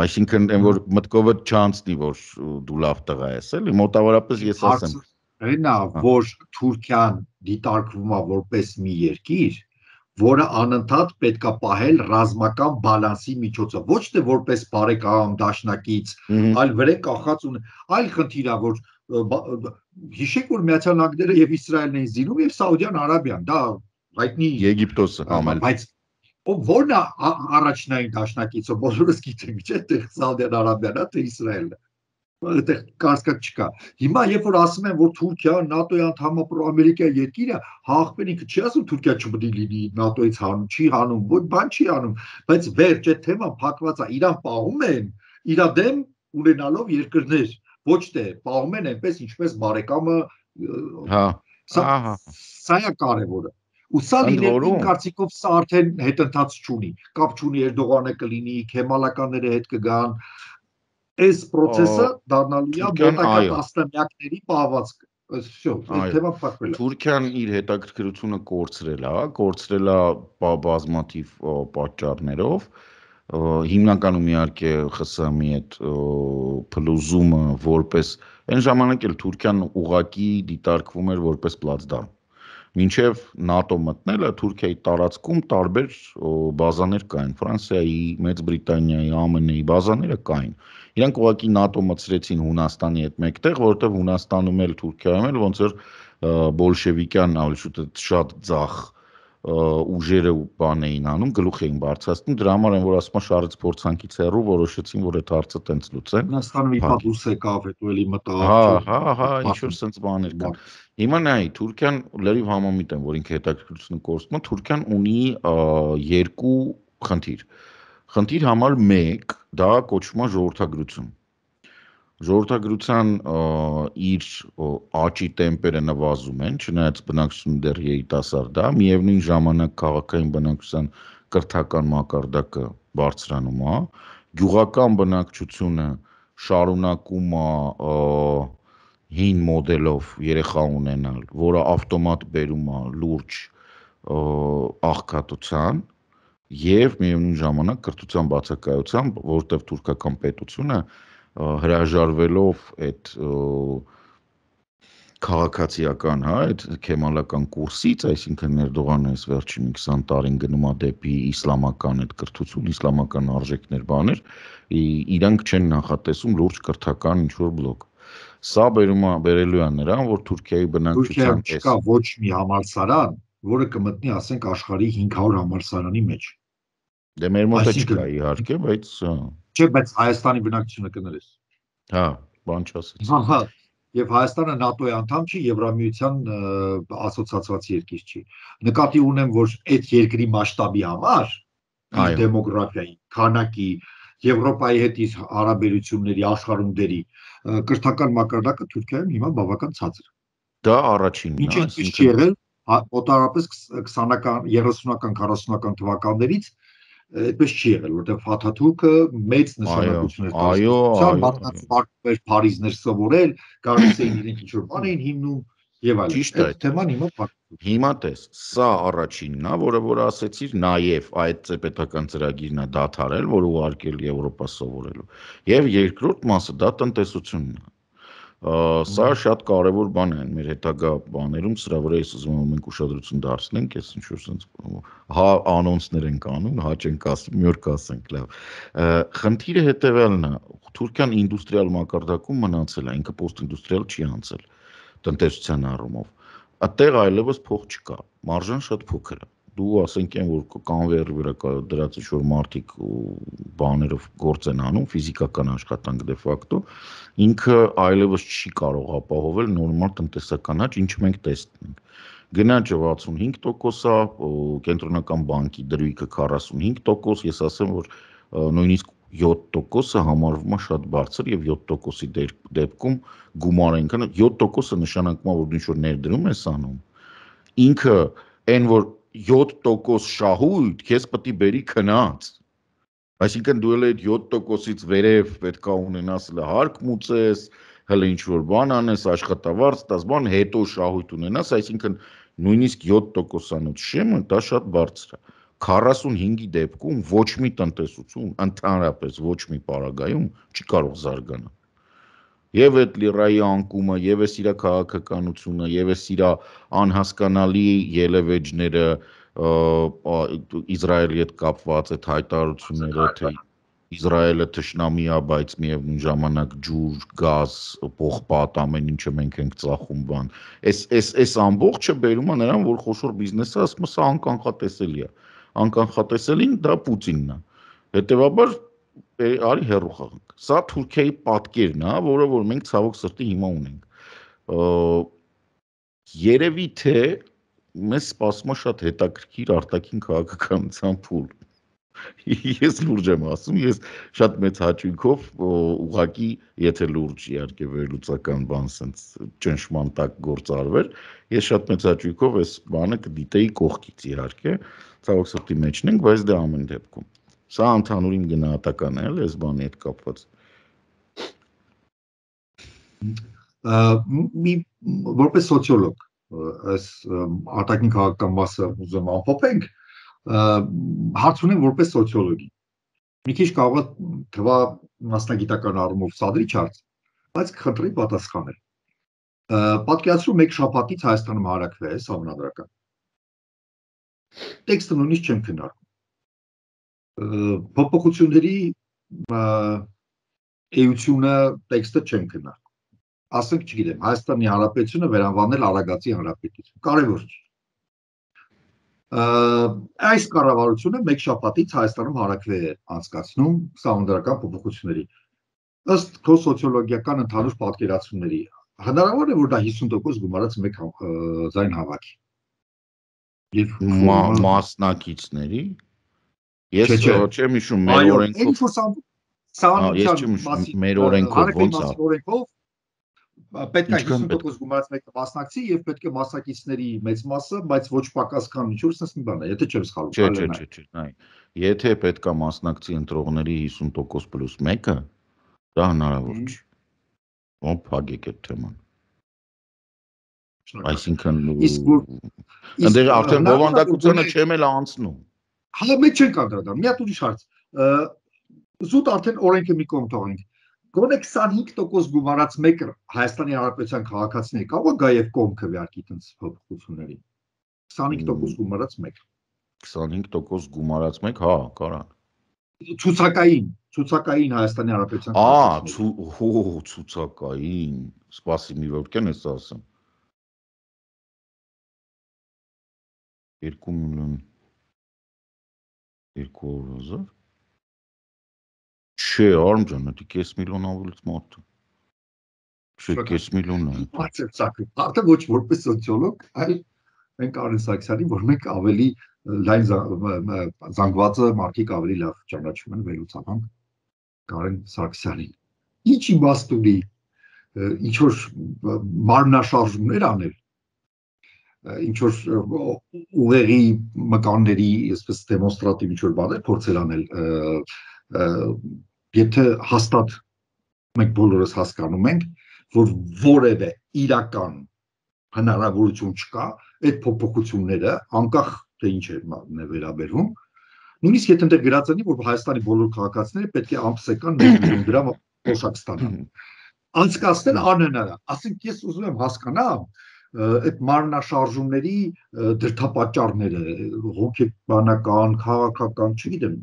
Speaker 2: Այսինքն այն որ մտքովդ չանցնի, որ դու լավ տղա ես, էլի մոտավորապես ես ասեմ։
Speaker 1: Այնա, որ Թուրքիան դիտարկվում է որպես մի երկիր, որը անընդհատ պետք է պահել ռազմական բալանսի միջոցով, ոչ թե որպես բարեկամ դաշնակից, այլ վրեն կախած ու այլ խնդիր է, որ հիշեք, որ Միացյալ Նահանգները եւ Իսրայելն էին զինում եւ Սաուդյան Արաբիան, դա հայտնի
Speaker 2: Եգիպտոսը համել,
Speaker 1: բայց ո՞րն է առաջնային դաշնակիցը, բոլորս գիտենք, չէ՞, թե Սաուդյան Արաբիան է, թե Իսրայելը։ Այդտեղ կասկած չկա։ Հիմա երբ որ ասում են, որ Թուրքիան ՆԱՏՕ-ի անդամ է, Ամերիկայի երկիր է, հաղթեն ինքը չի ասում Թուրքիա չպետք է լինի ՆԱՏՕ-ից հանում, չի հանում, ոչ բան չի անում, բայց վերջ այդ թեման փակված է, իրան պահում են, իր դեմ ունենալով երկրներ, ոչ թե պահում են այնպես ինչպես բարեկամը,
Speaker 2: հա,
Speaker 1: սա է կարևորը։ Ու սա լինելու իմ կարծիքով սա արդեն հետընթաց չունի, կապ չունի Էրդողանը կլինի, քեմալականները հետ կգան, այս process-ը դառնալու է մոտակա տասնամյակների պահվածք։ Всё, այդ թեման փակվել է։
Speaker 2: Թուրքիան իր հետաքրքրությունը կորցրել է, կորցրել է բազմաթիվ պատճառներով, հիմնականում իհարկե ԽՍՀՄ-ի հետ փլուզումը որպես այն ժամանակ էլ Թուրքիան ուղղակի դիտարկվում էր որպես պլացդարմ։ Մինչև ՆԱՏՕ մտնելը Թուրքիայի տարածքում տարբեր բազաներ կային, Ֆրանսիայի, Մեծ Բրիտանիայի, ԱՄՆ-ի բազաները կային։ Իրանք ուղղակի ՆԱՏՕ մտցրեցին Հունաստանի հետ մեկտեղ, որովհետև Հունաստանում էլ Թուրքիայում էլ ոնց որ բոլշևիկյան ավելի շուտ շատ ձախ ուժերը բան էին անում, գլուխ էին բարձրացնում, դրա համար են որ ասում են շարից փորձանքից հեռու որոշեցին, որ այդ հարցը տենց լուծեն։
Speaker 1: Հունաստանը մի հատ ուս եկավ, հետո էլի մտավ։
Speaker 2: Հա, հա, հա, ինչ որ sense բաներ կան։ Հիմա նայ, Թուրքիան լրիվ համամիտ են, որ ինքը հետաքրքրությունը կորցնում է, Թուրքիան ունի երկու խնդիր։ Խնդիր համար մեկ, դա կոչվում է ժողովրդագրություն։ Ժողովրդագրության իր աճի տեմպերը նվազում են, չնայած բնակչությունը դեռ երիտասարդ է, միևնույն ժամանակ քաղաքային բնակչության կրթական մակարդակը բարձրանում է, գյուղական բնակչությունը շարունակում է հին մոդելով երեխա ունենալ, որը ավտոմատ բերում է լուրջ աղքատության, Եվ միևնույն ժամանակ կրթության բացակայությամբ, որտեղ թուրքական պետությունը հրաժարվելով այդ քաղաքացիական, հա, այդ քեմալական կուրսից, այսինքն Էրդողանը այս վերջին քսան տարին գնում է դեպի իսլամական այդ կրթություն, իսլամական արժեքներ, բաներ, իրանք չեն նախատեսում լուրջ կրթական ինչ-որ բլոկ։ Սա բերում է, բերելու է նրան, որ Թուրքիայի բնակչության
Speaker 1: Թուրքիայում չկա ոչ մի համալսարան, որը կմտնի, ասենք, աշխարհի հինգ հարյուր համալսարանի մեջ։
Speaker 2: Դե մեր մոտ չկա իհարկե, բայց
Speaker 1: չէ, բայց Հայաստանի բնակչությունը կներես։
Speaker 2: Հա, բան չասեց։
Speaker 1: Հա, եւ Հայաստանը ՆԱՏՕ-ի անդամ չի, Եվրամիության ասոցիացված երկիր չի։ Նկատի ունեմ, որ այդ երկրի մասշտաբի համար, իր դեմոգրաֆիայի, քանակի, Եվրոպայի հետ իր հարաբերությունների, աշխարհումների կրթական մակարդակը Թուրքիայում հիմա բավական ցածր է։
Speaker 2: Դա առաջինն է,
Speaker 1: այսինքն չի եղել մոտավորապես քսանական, երեսունական, քառասունական թվականներից այդպես չի եղել, որտեղ Ֆաթաթուրքը մեծ նշանակություն էր տալիս, մարդիկ Փարիզներ սովորել, գալիս էին իրենք ինչ-որ բան էին հիմնում եւ այլն։ Այդ թեման հիմա փակվում։
Speaker 2: Հիմա տես, սա առաջինն է, որը որ ասեցիր, նաև այդ պետական ծրագիրն է դադարել, որ ուղարկել Եվրոպա սովորելու։ Եվ երկրորդ մասը դա տնտեսությունն է։ Սա շատ կարևոր բան է մեր հետագա բաներում, սրա վրա ես ուզում եմ մենք ուշադրություն դարձնենք, ես ինչ-որ sense հա անոնսներ ենք անում, հա չենք ասում, մի օր կասենք, լավ։ Խնդիրը հետևյալն է, Թուրքիան ինդուստրիալ մակարդակում մնացել է, ինքը պոստինդուստրիալ չի անցել տնտեսության առումով։ Այդտեղ այլևս փող չկա, մարժան շատ փոքր է։ Դու ասենք են, որ կանվերի վրա դրած ինչ-որ մարդիկ բաներով գործ են անում, ֆիզիկական աշխատանք դե ֆակտո, ինքը այլևս չի կարող ապահովել նորմալ տնտեսական աճ, ինչը մենք տեսնում ենք։ Գնաճը վաթսունհինգ տոկոս է, կենտրոնական բանկի դրույքը քառասունհինգ տոկոս, ես ասեմ, որ նույնիսկ յոթ տոկոսը համարվում է շատ բարձր եւ յոթ տոկոսի դեպքում գումար այնքան յոթ տոկոսը նշանակում է, որ ինչ-որ ներդրում ես անում, ինքը այն որ յոթ տոկոս շահույթ քեզ պետք է բերի քնած, այսինքն դու էլ այդ յոթ տոկոսից վերև պետք է ունենաս հարկ մուծես, հələ ինչ-որ բան անես, աշխատավարձ տաս, բան հետո շահույթ ունենաս, այսինքն նույնիսկ յոթ տոկոսանոց շեմը դա շատ բարձր է։ քառասունհինգի դեպքում ոչ մի տնտեսություն, ընդհանրապես ոչ մի պարագայում չի կարող զարգանալ։ Եվ այդ լիրայի անկումը, եւ էս իր քաղաքականությունը, եւ էս իր անհասկանալի ելևեջները, Իսրայելի հետ կապված այդ հայտարարությունները, թե Իսրայելը թշնամի է, բայց միևնույն ժամանակ ջուր, գազ, պողպատ, ամեն ինչը մենք ենք ծախում բան։ Այս այս այս ամբողջը բերում է նրան, որ խոշոր բիզնեսը ասում է սա անկանխատեսելի է։ Անկանխատեսելին դա Պուտինն է։ Հետևաբար արի հեռու խաղանք։ Սա Թուրքիայի պատկերն է, որը որ մենք ցավոք սրտի հիմա ունենք։ Երևի թե մեզ սպասում է շատ հետաքրքիր արտաքին քաղաքականության փուլ։ Ես լուրջ եմ ասում, ես շատ մեծ հաճույքով ուղղակի, եթե լուրջ իհարկե վերլուծական բան sense ճնշման տակ գործ արվեր, ես շատ մեծ հաճույքով այս բանը կդիտեի կողքից իհարկե, ցավոք սրտի մեջն ենք, բայց դա ամեն դեպքում։ Սա ընդհանուր իմ գնահատականն է, այս բանի հետ կապված։
Speaker 1: Մի որպես սոցիոլոգ, այս արտաքին քաղաքական մասը ուզում ամփոփենք, հարց ունեմ որպես սոցիոլոգի։ Մի քիչ կարող է թվա մասնագիտական առումով սադրիչ հարց, բայց խնդրի պատասխանել։ Պատկերացրու մեկ շաբաթից Հայաստանում հարակվել է համանդրական։ Տեքստը նույնիսկ չեմ քննարկում։ Փոփոխությունների էությունը տեքստը չեմ քննարկում։ Ասենք, չգիտեմ, Հայաստանի Հանրապետությունը վերանվանել Արագածի Հանրապետություն։ Կարևոր չի։ Այս կառավարությունը մեկ շաբաթից Հայաստանում հարակվել է անցկացնում համանդրական փոփոխությունների։ Ըստ քո սոցիոլոգիական ընդհանուր պատկերացումների, հնարավոր է որ դա հիսուն տոկոս գումարած մեկ ձայն հավաքի։ Եվ
Speaker 2: մասնակիցների ես չեմ հիշում մեր օրենքով մեր օրենքով ոնց է։
Speaker 1: Պետք է հիսուն տոկոս գումարած մեկը մասնակցի եւ պետք է մասնակիցների մեծ մասը, բայց ոչ պակաս քան ինչ-որ sense մի բան է, եթե չեմ սխալվում։
Speaker 2: Չէ, չէ, չէ, չէ, նայ։ Եթե պետք է մասնակցի ընտրողների հիսուն տոկոս պլյուս մեկը, դա հնարավոր չի։ Ո՞ն փակեք այդ թեման։ Այսինքն, այնտեղ արդեն բովանդակությունը չեմ էլ անցնում։
Speaker 1: Հա մեկ չենք անդրադառնում, մի հատ ուրիշ հարց։ Զուտ արդեն օրենքը մի կողմ թողենք։ Գոնե քսանհինգ տոկոս գումարած մեկը Հայաստանի Հանրապետության քաղաքացիների կարող է գա եւ կողմ քվեարկի տենց փոփոխությունների։ քսանհինգ տոկոս գումարած մեկ։
Speaker 2: քսանհինգ տոկոս գումարած մեկ, հա, կարան։
Speaker 1: Ցուցակային, ցուցակային Հայաստանի Հանրապետության
Speaker 2: քաղաքացիների։ Ահա, հո, ցուցակային։ Սպասի մի րոպե, ես ասեմ։ երկու միլիոն երկու հազար Չէ, արմ ջան, դա կես միլիոն ավելից մարդ է։ Չէ, կես միլիոն է։
Speaker 1: Բացարձակ։ Արդեն ոչ որպես սոցիոլոգ, այլ մենք Արեն Սարգսյանին, որ մենք ավելի լայն զանգվածը մարդիկ ավելի լավ ճանաչում են վերլուծաբան Կարեն Սարգսյանին։ Ինչ իմաստ ունի ինչ որ մարմնաշարժումներ անել, ինչ որ ուղեղի մկանների, այսպես դեմոնստրատիվ ինչ որ բաներ փորձել անել, եթե հաստատ մենք բոլորս հասկանում ենք, որ որևէ իրական հնարավորություն չկա այդ փոփոխությունները անկախ թե ինչ է վերաբերվում, նույնիսկ եթե ընդ գրած լինի, որ Հայաստանի բոլոր քաղաքացիները պետք է ամսական մեկ միլիոն դրամ օշակ ստանան։ Անցկացնել անհնար է։ Ասենք ես ուզում եմ հասկանամ այդ մարմնաշարժումների դրդապատճառները, հոգեբանական, քաղաքական, չգիտեմ,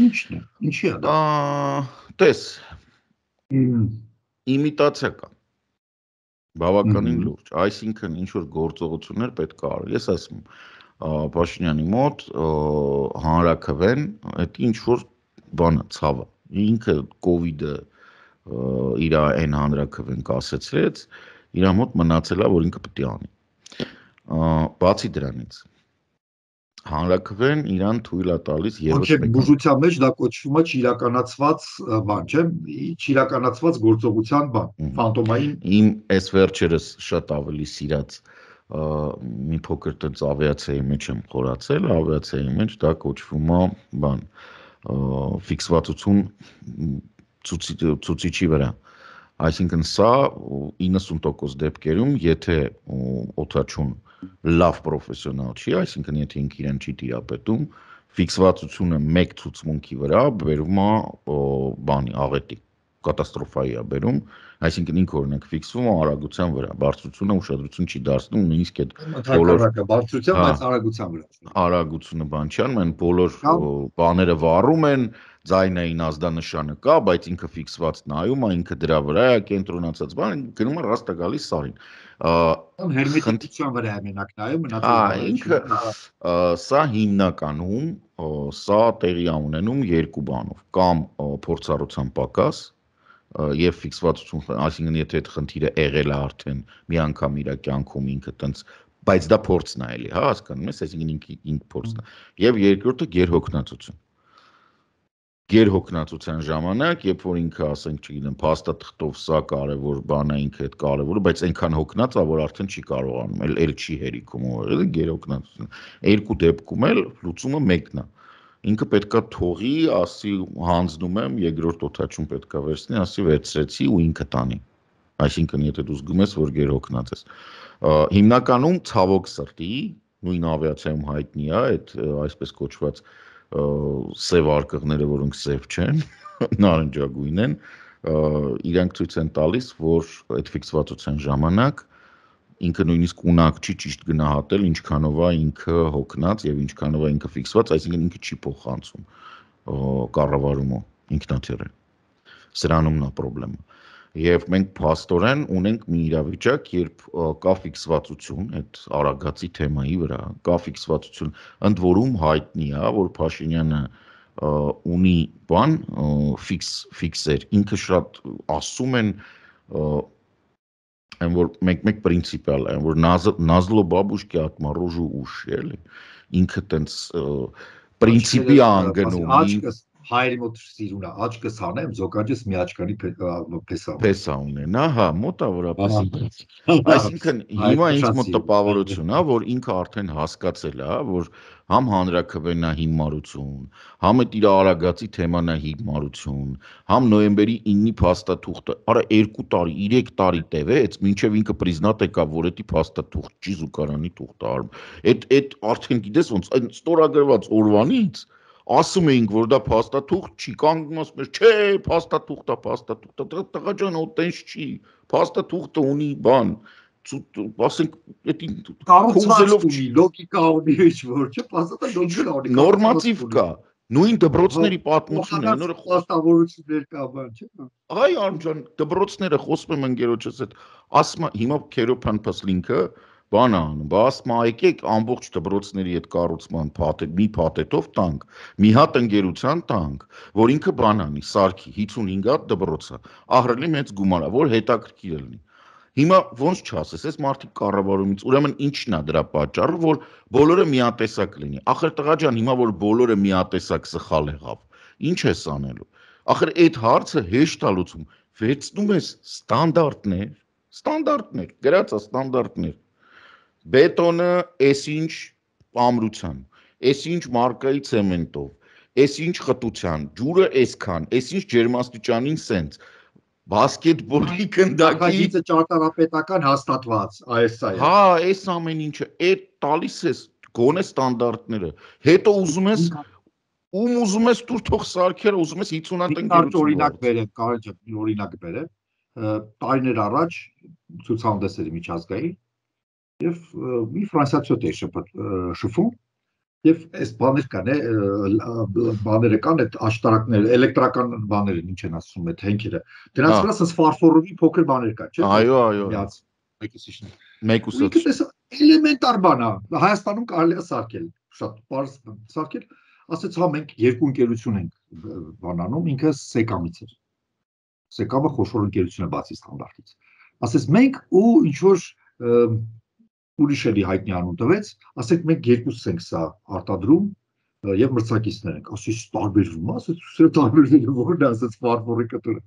Speaker 1: ինչն է, ինչի է դա։
Speaker 2: Տես, իմիտացիա կա, բավականին լուրջ, այսինքն ինչ-որ գործողություններ պետք է արել, ես ասում Փաշինյանի մոտ հանրաքվեն, այդ ինչ-որ բանը ցավը, ինքը կովիդը իր այն հանրաքվեն կասեցրեց, իր մոտ մնացել է, որ ինքը պետք է անի։ Բացի դրանից, հանրաքվեն իրան թույլ է տալիս եւս
Speaker 1: մեկ բուժության մեջ դա կոչվում է չիրականացված բան, չէ՞, չիրականացված գործողության բան, ֆանտոմային։
Speaker 2: Իմ այս վերջերս շատ ավելի սիրած մի փոքր տենց ավիացիայի մեջ եմ խորացել, ավիացիայի մեջ դա կոչվում է բան, ֆիքսվածություն ցուցիչի վրա։ Այսինքն սա իննսուն տոկոս դեպքերում, եթե օդաչուն լավ պրոֆեսիոնալ չի, այսինքն եթե ինքը իրեն չի տիրապետում, ֆիքսվածությունը մեկ ցուցմունքի վրա բերում է բանի աղետի, կատաստրոֆայի է բերում, այսինքն ինքը օրինակ ֆիքսվում է արագության վրա, բարձրությունը ուշադրություն չի դարձնում, նույնիսկ այդ
Speaker 1: բոլոր բարձրության, բայց արագության վրա։
Speaker 2: Արագությունը բան չի անում, այն բոլոր բաները վառում են, ձայնային ազդանշանը կա, բայց ինքը ֆիքսված նայում է, ինքը դրա վրա է կենտրոնացած, բան գնում է ռաստա գալիս սարին։
Speaker 1: Հերմետիկության վրա է մենակ նայում,
Speaker 2: մնացած ինքը սա հիմնականում սա տեղի է ունենում երկու բանով, կամ փորձառության պակաս եւ ֆիքսվածություն, այսինքն եթե այդ խնդիրը եղել է արդեն մի անգամ իր կյանքում ինքը տենց, բայց դա փորձն է էլի, հա, հասկանում ես, այսինքն ինքը ինքը փորձն է։ Եվ երկրորդը գերհոգնածություն։ Գերհոգնածության ժամանակ, երբ որ ինքը, ասենք, չգիտեմ, փաստաթղթով սա կարևոր բան է, ինքը այդ կարևորը, բայց այնքան հոգնած է, որ արդեն չի կարողանում, էլ էլ չի հերիքում ուղղել, գերհոգնածություն։ Երկու դեպքում էլ լուծումը մեկն է։ Ինքը պետքա թողի, ասի հանձնում եմ, երկրորդ օդաչուն պետքա վերցնի, ասի վերցրեցի ու ինքը տանի։ Այսինքն եթե դու զգում ես, որ գերհոգնած ես։ Հիմնականում ցավոք սրտի, նույն ավիացիայում հայտնի է այդ այսպես կոչված սև արկղները, որոնք սև չեն, նարնջագույն են, իրանք ցույց են տալիս, որ այդ ֆիքսվածության ժամանակ ինքը նույնիսկ ունակ չի ճիշտ գնահատել, ինչքանով է ինքը հոգնած եւ ինչքանով է ինքը ֆիքսված, այսինքն ինքը չի փոխանցում կառավարումը ինքնաթիռը։ Սրանումն է խնդրեմը։ Եվ մենք փաստորեն ունենք մի իրավիճակ, երբ կա ֆիքսվածություն այդ արագացի թեմայի վրա, կա ֆիքսվածություն, ընդ որում հայտնի է, որ Փաշինյանը ունի բան ֆիքս ֆիքսեր, ինքը շատ ասում են այն որ մեկ-մեկ պրինցիպիալ է, որ նազլո բաբուշկի ատմարոժու ուշ, էլի, ինքը տենց պրինցիպի անգնում,
Speaker 1: հայերի մոտ սիրուն է, աչքս հանեմ, զոկաջս մի աչքանի փեսա։
Speaker 2: Փեսա ունենա, հա, մոտավորապես։ Այսինքն հիմա ինձ մոտ տպավորություն է, որ ինքը արդեն հասկացել է, որ համ հանրաքվենա հիմարություն, համ այդ իր արագածի թեման է հիմարություն, համ նոյեմբերի իննի փաստաթուղթը, արա երկու տարի, երեք տարի տևեց, մինչև ինքը պրիզնատ եկավ, որ էդի փաստաթուղթ չի զուգարանի թուղթը արում։ Այդ այդ արդեն գիտես ոնց, այն ստորագրված օրվանից ասում էինք, որ դա փաստաթուղթ չի, կանգնում ասում ես, չէ, փաստաթուղթ է, փաստաթուղթ է, տղա ջան, այտենց չի, փաստաթուղթը ունի բան, ասենք, էդի
Speaker 1: կառուցվածք ունի, լոգիկա ունի, ինչ որ, չէ, փաստաթուղթը լոգիկա ունի,
Speaker 2: նորմատիվ կա, նույն դպրոցների պատմությունն է, նոր
Speaker 1: փաստավորություններ կա, բան, չէ։
Speaker 2: Այ Արմջան, դպրոցները խոսում եմ ընկերոջս հետ, ասում հիմա Քերոփան Փասլինքը բան անում, բա ասում եկեք ամբողջ դպրոցների այդ կառուցման փաթեթ, մի փաթեթով տանք, մի հատ ընկերության տանք, որ ինքը բան անի, սարքի հիսունհինգ հատ դպրոցը, ահռելի մեծ գումար է, որ հետաքրքիր լինի։ Հիմա ոնց չասես, այս մարդիկ կառավարումից, ուրեմն ինչն է դրա պատճառը, որ բոլորը միատեսակ լինի։ Ախր տղա ջան, հիմա որ բոլորը միատեսակ սխալ եղավ, ինչ ես անելու։ Ախր այդ հարցը հեշտ է լուծում, վերցնում ես ստանդարտներ, ստանդարտներ, գրած է ստանդարտներ։ Բետոնը այսինչ ամրության, այսինչ մարկայի ցեմենտով, այսինչ խտության, ջուրը այսքան, այսինչ ջերմաստիճանին սենց, բասկետբոլի գնդակի
Speaker 1: ճարտարապետական հաստատված, այս է։
Speaker 2: Հա, այս ամեն ինչը, այդ տալիս ես գոնե ստանդարտները, հետո ուզում ես ում ուզում ես դուր թող սարքերը, ուզում ես հիսուն հատ
Speaker 1: ընկերություն օրինակ բերեմ, կարճ օրինակ բերեմ, տարիներ առաջ ցուցահանդեսերի միջազգային եւ մի ֆրանսիացի է շփվում եւ այս բաներ կան է բաները կան այդ աշտարակները էլեկտրական բաները ինչ են ասում այդ հենքերը դրանց վրա ասես ֆարֆորովի փոքր բաներ կա չէ
Speaker 2: այո այո
Speaker 1: մեկուսիշն
Speaker 2: մեկուսը
Speaker 1: էլեմենտար բան է Հայաստանում կարելի է սարքել շատ բարձ սարքել ասեց հա մենք երկու ընկերություն ենք բանանում ինքը Սեկամից էր Սեկամը խոշոր ընկերություն է բացի ստանդարտից ասեց մենք ու ինչ որ ուրիշ էլի հայտնի անուն տվեց, ասեք մենք երկուսս ենք սա արտադրում եւ մրցակիցներ ենք, ասես տարբերվում, ասես սա տարբերվելը որն է, ասես ֆարֆորի կտորը։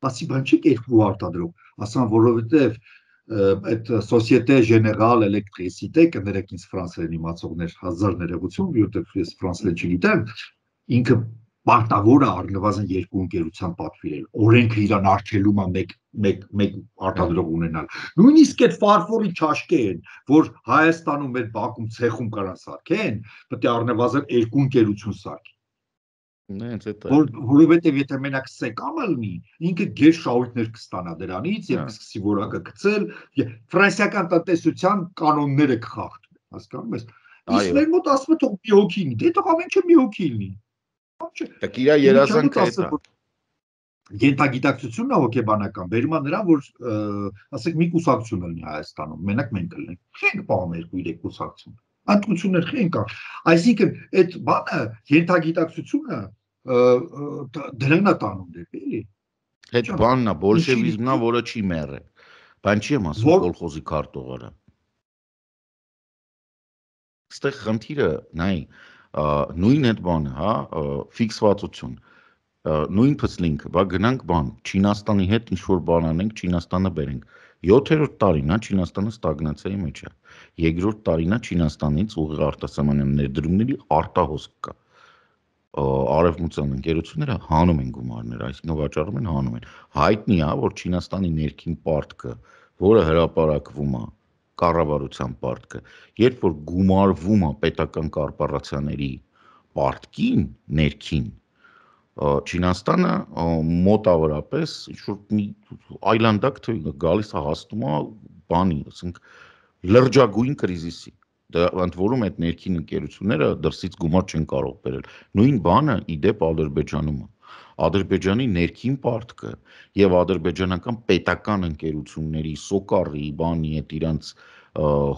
Speaker 1: Ասի բան չի երկու արտադրում, ասան որովհետեւ այդ Société Générale Électricité կներեք ինձ ֆրանսերեն իմացողներ հազար ներողություն, որովհետեւ ես ֆրանսերեն չգիտեմ, ինքը պարտավոր է առնվազն երկու ընկերության պատվիրել, օրենքը իրան արգելում է մեկ մեկ մեկ արտադրող ունենալ։ Նույնիսկ այդ ֆարֆորի չաշկեն, որ Հայաստանում մեր Բաքում ցեխում կարան սարքեն, պետք է առնվազն երկու ընկերություն սարքի։
Speaker 2: Նենց է։
Speaker 1: Որովհետև եթե մենակ Սեկամը լինի, ինքը գեր շահույթներ կստանա դրանից եւ կսկսի որակը գցել, ֆրանսիական տնտեսության կանոնները կխախտվեն, հասկանում ես։ Իսկ մեր մոտ ասում է թող մի հոգի լինի, դե թող ամեն ինչ մի հոգի լինի։
Speaker 2: Դեք իրա երազանքը է։
Speaker 1: Գենտագիտակցությունն է հոգեբանական, բերում է նրան, որ ասենք մի կուսակցություն լինի Հայաստանում, մենակ մենք լինենք։ Չենք պահում երկու երեք կուսակցություն։ Անկություններ չեն կա։ Այսինքն այդ բանը գենտագիտակցությունը դրան է տանում դեպի, էլի։
Speaker 2: Այդ բանն է, բոլշևիզմն է, որը չի մեռել։ Բան չի եմ ասում կոլխոզի քարտուղարը։ Այստեղ խնդիրը, նայ, նույն այդ բանը, հա, ֆիքսվածություն, նույն փսլինքը, բա գնանք բան, Չինաստանի հետ ինչ-որ բան անենք, Չինաստանը բերենք, յոթերորդ տարին է Չինաստանը ստագնացիայի մեջ է, երկրորդ տարին է Չինաստանից ուղիղ արտասահմանյան ներդրումների արտահոսք կա, արևմտյան ընկերությունները հանում են գումարներ, այսինքն վաճառում են, հանում են, հայտնի է, որ Չինաստանի ներքին պարտքը, որը հրապարակվում է, կառավարության պարտքը, երբ որ գումարվում է պետական կորպորացիաների պարտքին, ներքին, Չինաստանը մոտավորապես ինչ-որ մի այլանդակ գալիս է հասնում է բանի, ասենք լրջագույն կրիզիսի, ընդ որում այդ ներքին ընկերությունները դրսից գումար չեն կարող բերել, նույն բանը իդեպ Ադրբեջանում է, Ադրբեջանի ներքին պարտքը եւ ադրբեջանական պետական ընկերությունների սոկարի, բանի այդ իրանց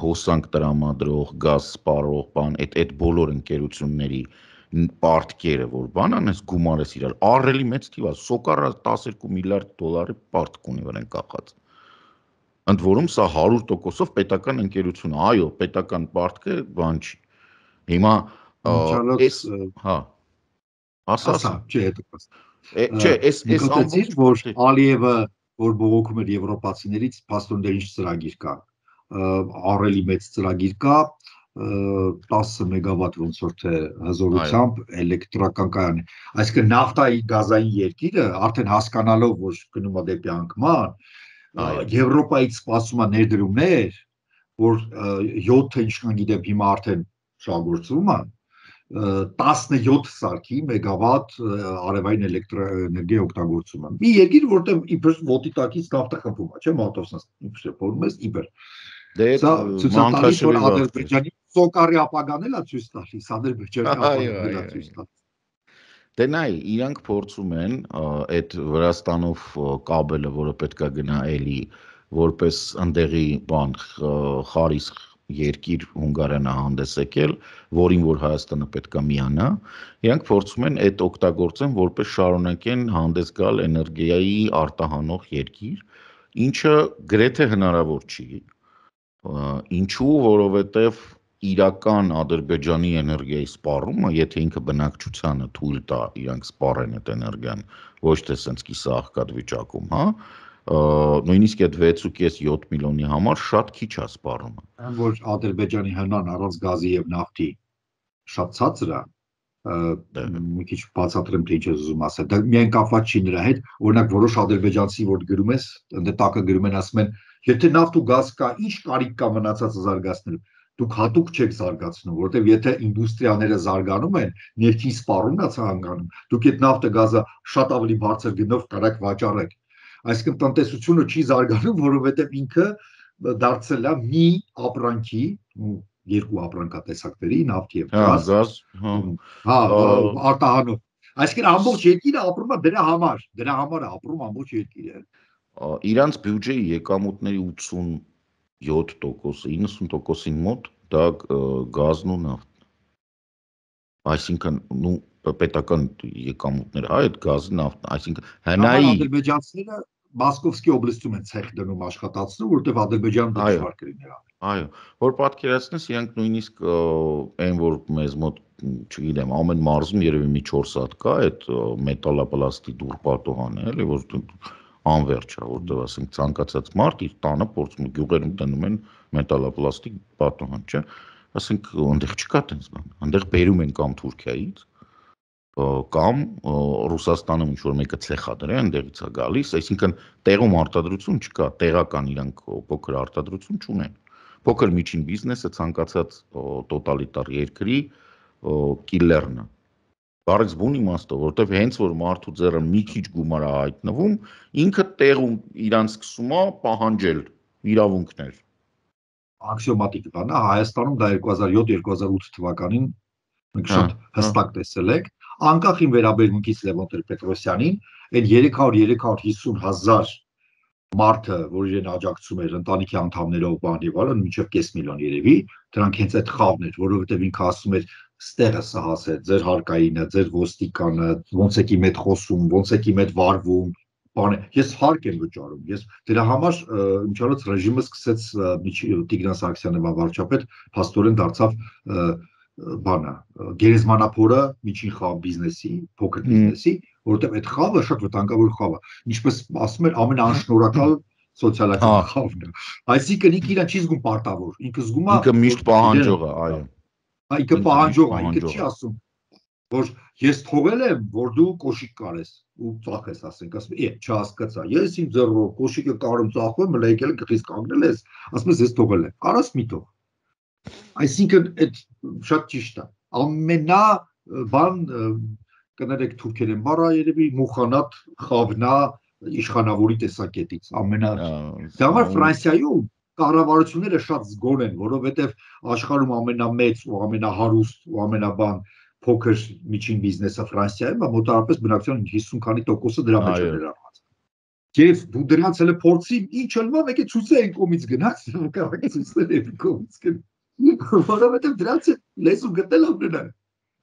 Speaker 2: հոսանք տրամադրող, գազ սպառող, բան, այդ այդ բոլոր ընկերությունների պարտքերը, որ բան անես գումարես իրար, ահռելի մեծ թիվ է, սոկարը տասներկու միլիարդ դոլարի պարտք ունի վրան կախած։ Ընդ որում սա հարյուր տոկոսով պետական ընկերություն, այո, պետական պարտքը բան չի։ Հիմա այս, հա, Ասա,
Speaker 1: չէ, հետո։
Speaker 2: Չէ, այս այս
Speaker 1: ամբողջ որ Ալիևը որ բողոքում էր եվրոպացիներից, փաստորեն դեր ինչ ծրագիր կա։ Առելի մեծ ծրագիր կա, տասը մեգավատ ոնց որ թե հզորությամբ էլեկտրական կայան։ Այսինքն նավթայի գազային երկիրը արդեն հասկանալով, որ գնում է դեպի անկման, Եվրոպայից սպասում է ներդրումներ, որ յոթը ինչքան գիտեմ հիմա արդեն շահգործվում է, տասնյոթ սարքի մեգավատ արևային էլեկտրաէներգիա օգտագործումը։ Մի երկիր, որտեղ իբր ոտի տակից նավթը խմբում է, չէ՞, մատոսնս իբր փորում ես իբր։ Սա ցույց է տալիս, որ Ադրբեջանի սոկարի ապագան էլ է ցույց տալիս, Ադրբեջանի ապագան էլ է ցույց տալիս։
Speaker 2: Դե նայ, իրանք փորձում են այդ Վրաստանով կաբելը, որը պետքա գնա էլի, որպես ընդեղի բան խարիսխ երկիր Հունգարիան հանդես եկել, որին որ Հայաստանը պետքա միանա, իրանք փորձում են այդ օգտագործեն, որպես շարունակեն հանդես գալ էներգիայի արտահանող երկիր, ինչը գրեթե հնարավոր չի։ Ինչու, որովհետև իրական Ադրբեջանի էներգիայի սպառումը, եթե ինքը բնակչությանը թույլ տա իրանք սպառեն այդ էներգիան, ոչ թե սենց կիսահղկած վիճակում, հա, նույնիսկ այդ վեց ու կես յոթ միլիոնի համար շատ քիչ է սպառումը։
Speaker 1: Որ Ադրբեջանի հնան առանց գազի եւ նավթի շատ ցածր է, մի քիչ բացատրեմ թե ինչ ես ուզում ասել։ Դա միայն կապված չի նրա հետ, օրինակ որոշ ադրբեջանցի որ գրում ես, ընդ տակը գրում են ասում են, եթե նավթ ու գազ կա, ինչ կարիք կա մնացածը զարգացնելու։ Դուք հատուկ չեք զարգացնում, որտեղ եթե ինդուստրիաները զարգանում են, ներքին սպառումն է ցանկանում, դուք այդ նավթը գազը շատ ավելի բարձր գնով կարաք վաճառեք։ Այսինքն տնտեսությունը չի զարգանում, որովհետև ինքը դարձել է մի ապրանքի, երկու ապրանքատեսակների, նավթ եւ գազ, հա, արտահանող։ Այսինքն ամբողջ երկիրը ապրում է դրա համար, դրա համար է ապրում ամբողջ երկիրը։
Speaker 2: Իրանց բյուջեի եկամուտների ութսունյոթ տոկոսը, իննսուն տոկոսին մոտ դա գազն ու նավթն։ Այսինքն, նու պետական եկամուտները, հա, այդ գազը, նավթն, այսինքն հնայի
Speaker 1: ադրբեջանցիները Մոսկովսկի օբլաստում են ցեխ դնում աշխատացնում, որտեղ Ադրբեջանը դժվար կլիներ։
Speaker 2: Այո, որ պատկերացնես, իրանք նույնիսկ այն որ մեզ մոտ, չգիտեմ, ամեն մարզում երևի մի չորս հատ կա այդ մետալապլաստի դուռ պատոհանը, էլի, որ անվերջ է, որտեղ ասենք ցանկացած մարդ իր տանը փորձում գյուղերում դնում են մետալապլաստի պատոհան, չէ՞։ Ասենք այնտեղ չկա տենց բան, այնտեղ բերում են կամ Թուրքիայից, կամ Ռուսաստանում ինչ որ մեկը ցեխա դրե, այնտեղից է գալիս, այսինքն տեղում արտադրություն չկա, տեղական իրանք փոքր արտադրություն չունեն։ Փոքր միջին բիզնեսը ցանկացած տոտալիտար երկրի կիլլերն է։ Բարից բուն իմաստով, որտեվ հենց որ մարդու ձեռը մի քիչ գումար է հայտնվում, ինքը տեղում իրան սկսում է պահանջել իրավունքներ։
Speaker 1: Աքսիոմատիկ բան է, Հայաստանում դա երկու հազար յոթ երկու հազար ութ թվականին մենք շատ հստակ տեսել ենք, անկախ իմ վերաբերմունքից Լևոն Տեր-Պետրոսյանին, այդ երեք հարյուր երեք հարյուր հիսուն հազար մարդը, որ իրեն աջակցում էր ընտանիքի անդամներով բան եւ այլն, մինչեւ կես միլիոն երևի, դրանք հենց այդ խավն էր, որովհետեւ ինքը ասում էր ստեղը սահասե, ձեր հարկայինը, ձեր ոստիկանը, ոնց եք իմ հետ խոսում, ոնց եք իմ հետ վարվում, բանը, ես հարկ եմ վճարում, ես դրա համար ինչարոց ռեժիմը սկսեց Տիգրան Սարգսյանը վարչապետ, փաստորեն դարձավ բանը, գերեզմանափորը միջին խավ բիզնեսի, փոքր բիզնեսի, որովհետև այդ խավը շատ վտանգավոր խավ է, ինչպես ասում են ամենաանշնորհակալ սոցիալական խավն է, այսինքն ինքը իրան չի զգում պարտավոր, ինքը զգում է
Speaker 2: ինքը միշտ պահանջող է, այո,
Speaker 1: ինքը պահանջող է, ինքը չի ասում, որ ես թողել եմ, որ դու կոշիկ կարես ու ծախես, ասենք, ասում է, չհասկացա, ես իմ ձեռով կոշիկը կարում ծախում, մը եկել գլխից կանգնել ես, ասում ես ես թողել եմ, կարաս մի թող։ Այսինքն այդ շատ ճիշտ է։ Ամենա բան կներեք թուրքերեն բառը երևի մուխանատ խավնա իշխանավորի տեսակետից, ամենա։ Դա համար Ֆրանսիայում կառավարությունները շատ զգոն են, որովհետև աշխարհում ամենամեծ ու ամենահարուստ ու ամենաբան փոքր միջին բիզնեսը Ֆրանսիայում է, մոտավորապես բնակչության հիսուն քանի տոկոսը դրա մեջ է ներառված։ Եվ դու դրանց էլ փորձի ինչ ալма մեկ է ցույցը այն կողմից գնաց, կարող է ցույցը այն կողմից գնաց։ Որովհետև դրանց լեզու գտել ամենը։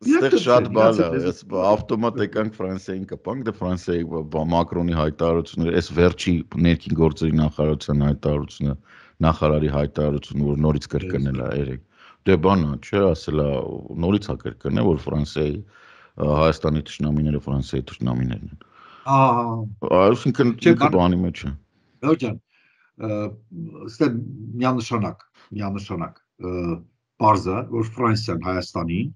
Speaker 2: Այստեղ շատ բան է, ես ավտոմատ եկանք Ֆրանսիային կպանք, դե Ֆրանսիայի Մակրոնի հայտարարությունը, այս վերջի ներքին գործերի նախարարության հայտարարությունը, նախարարի հայտարարությունը, որ նորից կրկնել է երեք։ Դե բան է, չէ, ասելա նորից է կրկնել, որ Ֆրանսիայի Հայաստանի թշնամիները Ֆրանսիայի թշնամիներն են։
Speaker 1: Ահա,
Speaker 2: այսինքն ինքը բանի մեջ է։
Speaker 1: Լոջան, ստե միանշանակ, միանշանակ բարձա, որ Ֆրանսիան Հայաստանին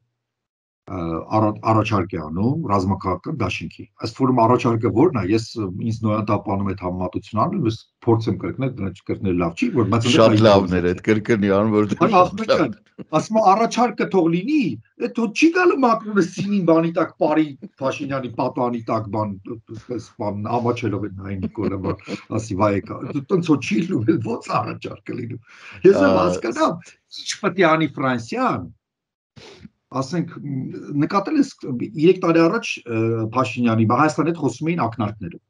Speaker 1: առաջարկ է անում ռազմաքաղաքական դաշինքի։ Ըստ որում առաջարկը որն է, ես ինձ նոյատապանում այդ համեմատություն անում, ես փորձեմ կրկնել, դրանց կրկնել լավ չի, որ բայց
Speaker 2: շատ լավն էր այդ կրկնի անում, որ
Speaker 1: ասում առաջարկը թող լինի, այդ թող չի գալու Մակրոնը սինին բանի տակ բարի Փաշինյանի պատանի տակ բան, բան ամաչելով են նայ Նիկոլը բան, ասի վայեկա, տոնց որ չի լինում, ո՞նց առաջարկը լինում։ Ես եմ հասկանամ, ինչ պետք է անի Ֆրանսիան ասենք նկատել ես երեք տարի առաջ Փաշինյանի Հայաստանի հետ խոսում էին ակնարկներով։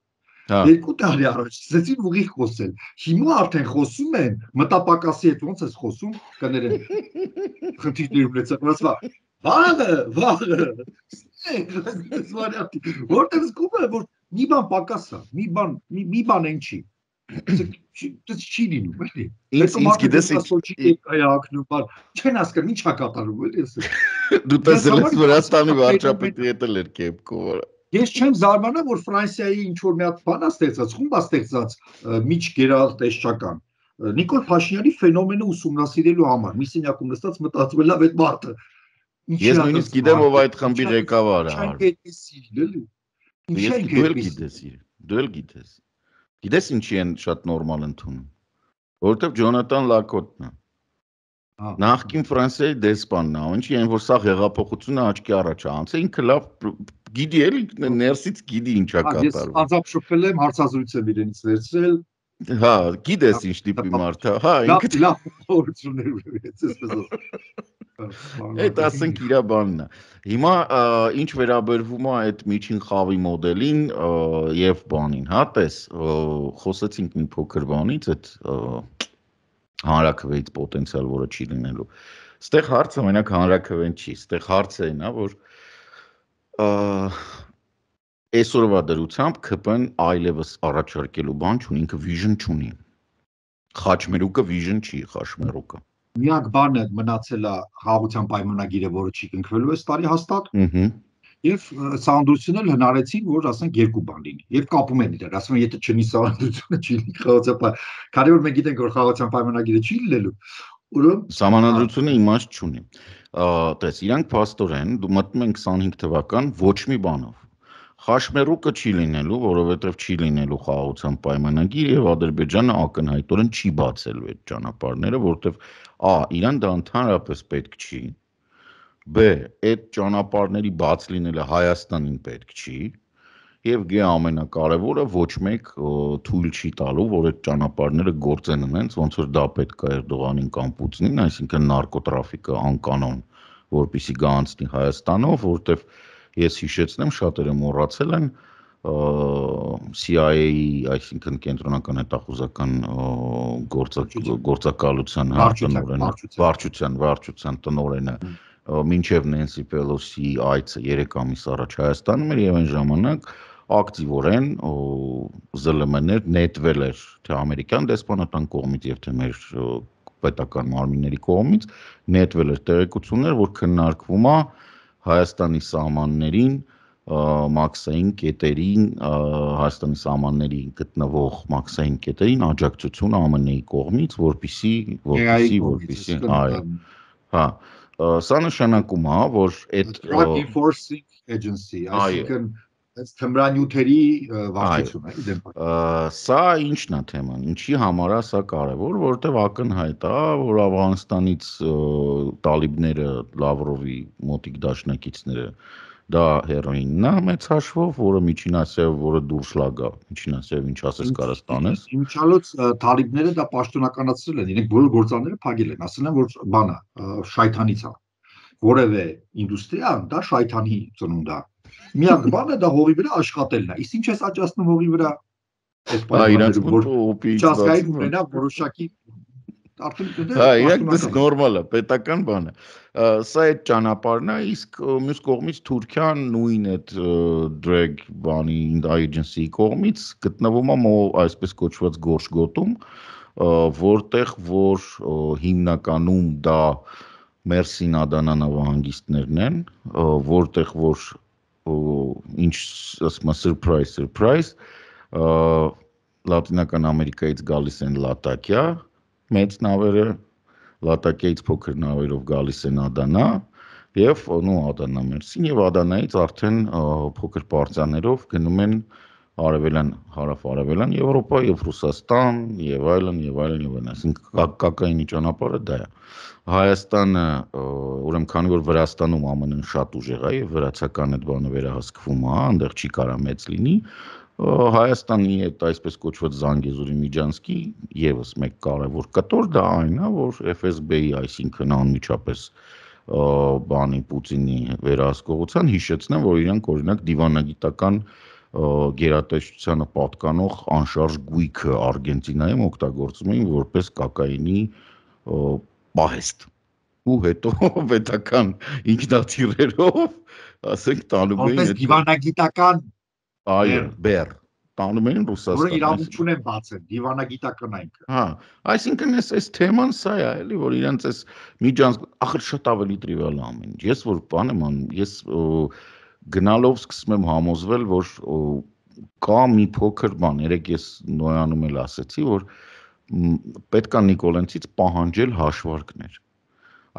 Speaker 1: Երկու տարի առաջ սկսեցին ուղիղ խոսել։ Հիմա արդեն խոսում են մտապակասի հետ ոնց ես խոսում կներեն։ Խնդիրներ ունեցած, ասա վաղը, վաղը։ Որտեղ զգում եմ որ մի բան պակաս է, մի բան, մի բան են չի։ Դա չի լինում, էլի։
Speaker 2: Ինձ ինձ գիտես
Speaker 1: այակնում, բան չեն հասկանում ինչ է կատարում, էլի էս։
Speaker 2: Դու տեսել ես Վրաստանի վարչապետի հետ էլ էր կեպկով։
Speaker 1: Ես չեմ զարմանա, որ Ֆրանսիայի ինչ որ մի հատ բան է ստեղծած, խումբ է ստեղծած միջգերատեսչական։ Նիկոլ Փաշինյանի ֆենոմենը ուսումնասիրելու համար, մի սենյակում նստած մտածում եմ, լավ այդ մարդը։
Speaker 2: Ես նույնիսկ գիտեմ ով այդ խմբի ղեկավարը է։ Ես դու էլ գիտես, դու էլ գիտես։ Գիտես ինչի են շատ նորմալ ընդունում, որովհետև Ջոնատան Լակոտն է։ Նախկին Ֆրանսիայի դեսպանն է, ինչի այն որ սա հեղափոխությունը աչքի առաջ է անցել, ինքը լավ գիտի էլի ներսից գիտի ինչա կատարվում։
Speaker 1: Ես անձամբ շփվել եմ, հարցազրույց եմ իրենից վերցրել։
Speaker 2: Հա, գիտես ինչ տիպի մարդ է, հա, ինքը
Speaker 1: լավ փորձություններ ունեցես այսպես։
Speaker 2: Այդ ասենք իր բանն է։ Հիմա ինչ վերաբերվում է այդ միջին խավի մոդելին եւ բանին, հա, տես, խոսեցինք մի փոքր բանից, այդ հանրաքվեից պոտենցիալ, որը չի լինելու։ Ստեղ հարցը մենակ հանրաքվեն չի, ստեղ հարցը այն է, որ այսօրվա դրությամբ ՔՊ-ն այլևս առաջարկելու բան չունի, ինքը vision չունի։ Խաչմերուկը vision չի, խաչմերուկը։
Speaker 1: Միակ բանը մնացել է խաղաղության պայմանագիրը, որը չի կնքվելու այս տարի հաստատ։ Եվ սահմանադրությունն էլ հնարեցին, որ ասենք երկու բան լինի։ Եվ կապում են իրար, ասում են, եթե չնի սահմանադրությունը չի լինի խաղաղության, քանի որ մենք գիտենք, որ խաղաղության պայմանագիրը չի լինելու, ուրեմն
Speaker 2: սահմանադրությունը իմաստ չունի։ Տես, իրանք փաստորեն դու մտնում են քսանհինգ թվական ոչ մի բանով։ Խաշմերուկը չի լինելու, որովհետև չի լինելու խաղաղության պայմանագիր եւ Ադրբեջանը ակնհայտորեն չի բացելու այդ ճանապարհները, որովհետև a իրան դա ընդհանրապես պետք չի, b այդ ճանապարհների բաց լինելը Հայաստանին պետք չի եւ g ամենակարևորը ոչ մեկ թույլ չի տալու, որ այդ ճանապարհները գործեն այնց, ոնց որ դա պետք է Էրդողանին կամ Պուտինին, այսինքն նարկոտրաֆիկը անկանոն, որպեսի գանցնի Հայաստանով, որովհետև ես հիշեցնեմ, շատերը մոռացել են C I A-ի, այսինքն կենտրոնական հետախուզական գործակալության տնօրենը, վարչության, վարչության տնօրենը, մինչև Նենսի Պելոսի այցը երեք ամիս առաջ Հայաստանում էր եւ այն ժամանակ ակտիվորեն Զ Л M-ներ նետվել էր թե ամերիկյան դեսպանատան կողմից եւ թե մեր պետական մարմինների կողմից նետվել էր տեղեկություններ, որ քննարկվում է Հայաստանի սահմաններին, մաքսային կետերին, Հայաստանի սահմաններին գտնվող մաքսային կետերին աջակցություն A M N-ի կողմից, որպեսզի, որպեսզի, որպեսզի, այո, հա, սա նշանակում է, որ այդ
Speaker 1: Drug Enforcing Agency, այսինքն այս թմրանյութերի վարչությունը, իդեպ։
Speaker 2: Սա ինչն է թեման, ինչի համար է սա կարևոր, որովհետև ակնհայտ է, որ Աֆղանստանից տալիբները, Լավրովի մոտիկ դաշնակիցները դա հերոինն է մեծ հաշվով, որը Միջին Ասիայով, որը դուրս լագա, Միջին Ասիայով ինչ ասես կարաս տանես։
Speaker 1: Իմիջիալոց տալիբները դա պաշտոնականացրել են, իրենք բոլոր գործարանները փակել են, ասել են, որ բանը շայթանից է։ Որևէ ինդուստրիա դա շայթանի ծնունդ է։ Միակ բանը դա հողի վրա աշխատելն է։ Իսկ ինչ է աճացնում հողի վրա։
Speaker 2: Հա, իրանց
Speaker 1: միջազգային ունենա որոշակի
Speaker 2: Հա, իրանք դες նորմալ է, պետական բան է։ Սա այդ ճանապարհն է, իսկ մյուս կողմից Թուրքիան նույն այդ drag բանի agency-ի կողմից գտնվում է այսպես կոչված գորշ գոտում, որտեղ որ հիմնականում դա Մերսին Ադանա նավահանգիստներն են, որտեղ որ ինչ ասում եմ surprise surprise Լատինական Ամերիկայից գալիս են Լատակիա մեծ նավերը Լատակիայից փոքր նավերով գալիս են Ադանա եւ նո Ադանա մերսին եւ Ադանայից արդեն փոքր պարտիաներով գնում են արևելան հարավ-արևելան Եվրոպա եւ Ռուսաստան եւ այլն եւ այլն եւ այլն այսինքն կակայինի ճանապարհը դա է Հայաստանը ուրեմն քանի որ Վրաստանում ԱՄՆ-ն շատ ուժեղ է եւ վրացական այդ բանը վերահսկվում է այնտեղ չի կարա մեծ լինի Հայաստանի այդ այսպես կոչված Զանգեզուրի Միջանցքի եւս մեկ կարևոր կտոր դա այն է որ F S B-ի այսինքն անմիջապես բանի Պուտինի վերահսկողության հիշեցնեմ որ իրանք օրինակ դիվանագիտական գերատեսչությանը պատկանող անշարժ գույքը Արգենտինայում օգտագործում էին որպես կոկաինի պահեստ ու հետո պետական ինքնաթիռերով ասենք տանում էին
Speaker 1: որպես դիվանագիտական
Speaker 2: այո բեր տանում էին Ռուսաստան
Speaker 1: որը իրավունք ունեն բացել դիվանագիտական այնքը
Speaker 2: հա այսինքն էս էս թեման սա է էլի որ իրենց էս միջանց ախր շատ ավելի տրիվիալ է ամեն ինչ ես որ բան եմ անում ես գնալով սկսում եմ համոզվել որ կա մի փոքր բան երեք ես նոյանում էլ ասեցի որ պետքա Նիկոլենցից պահանջել հաշվարկներ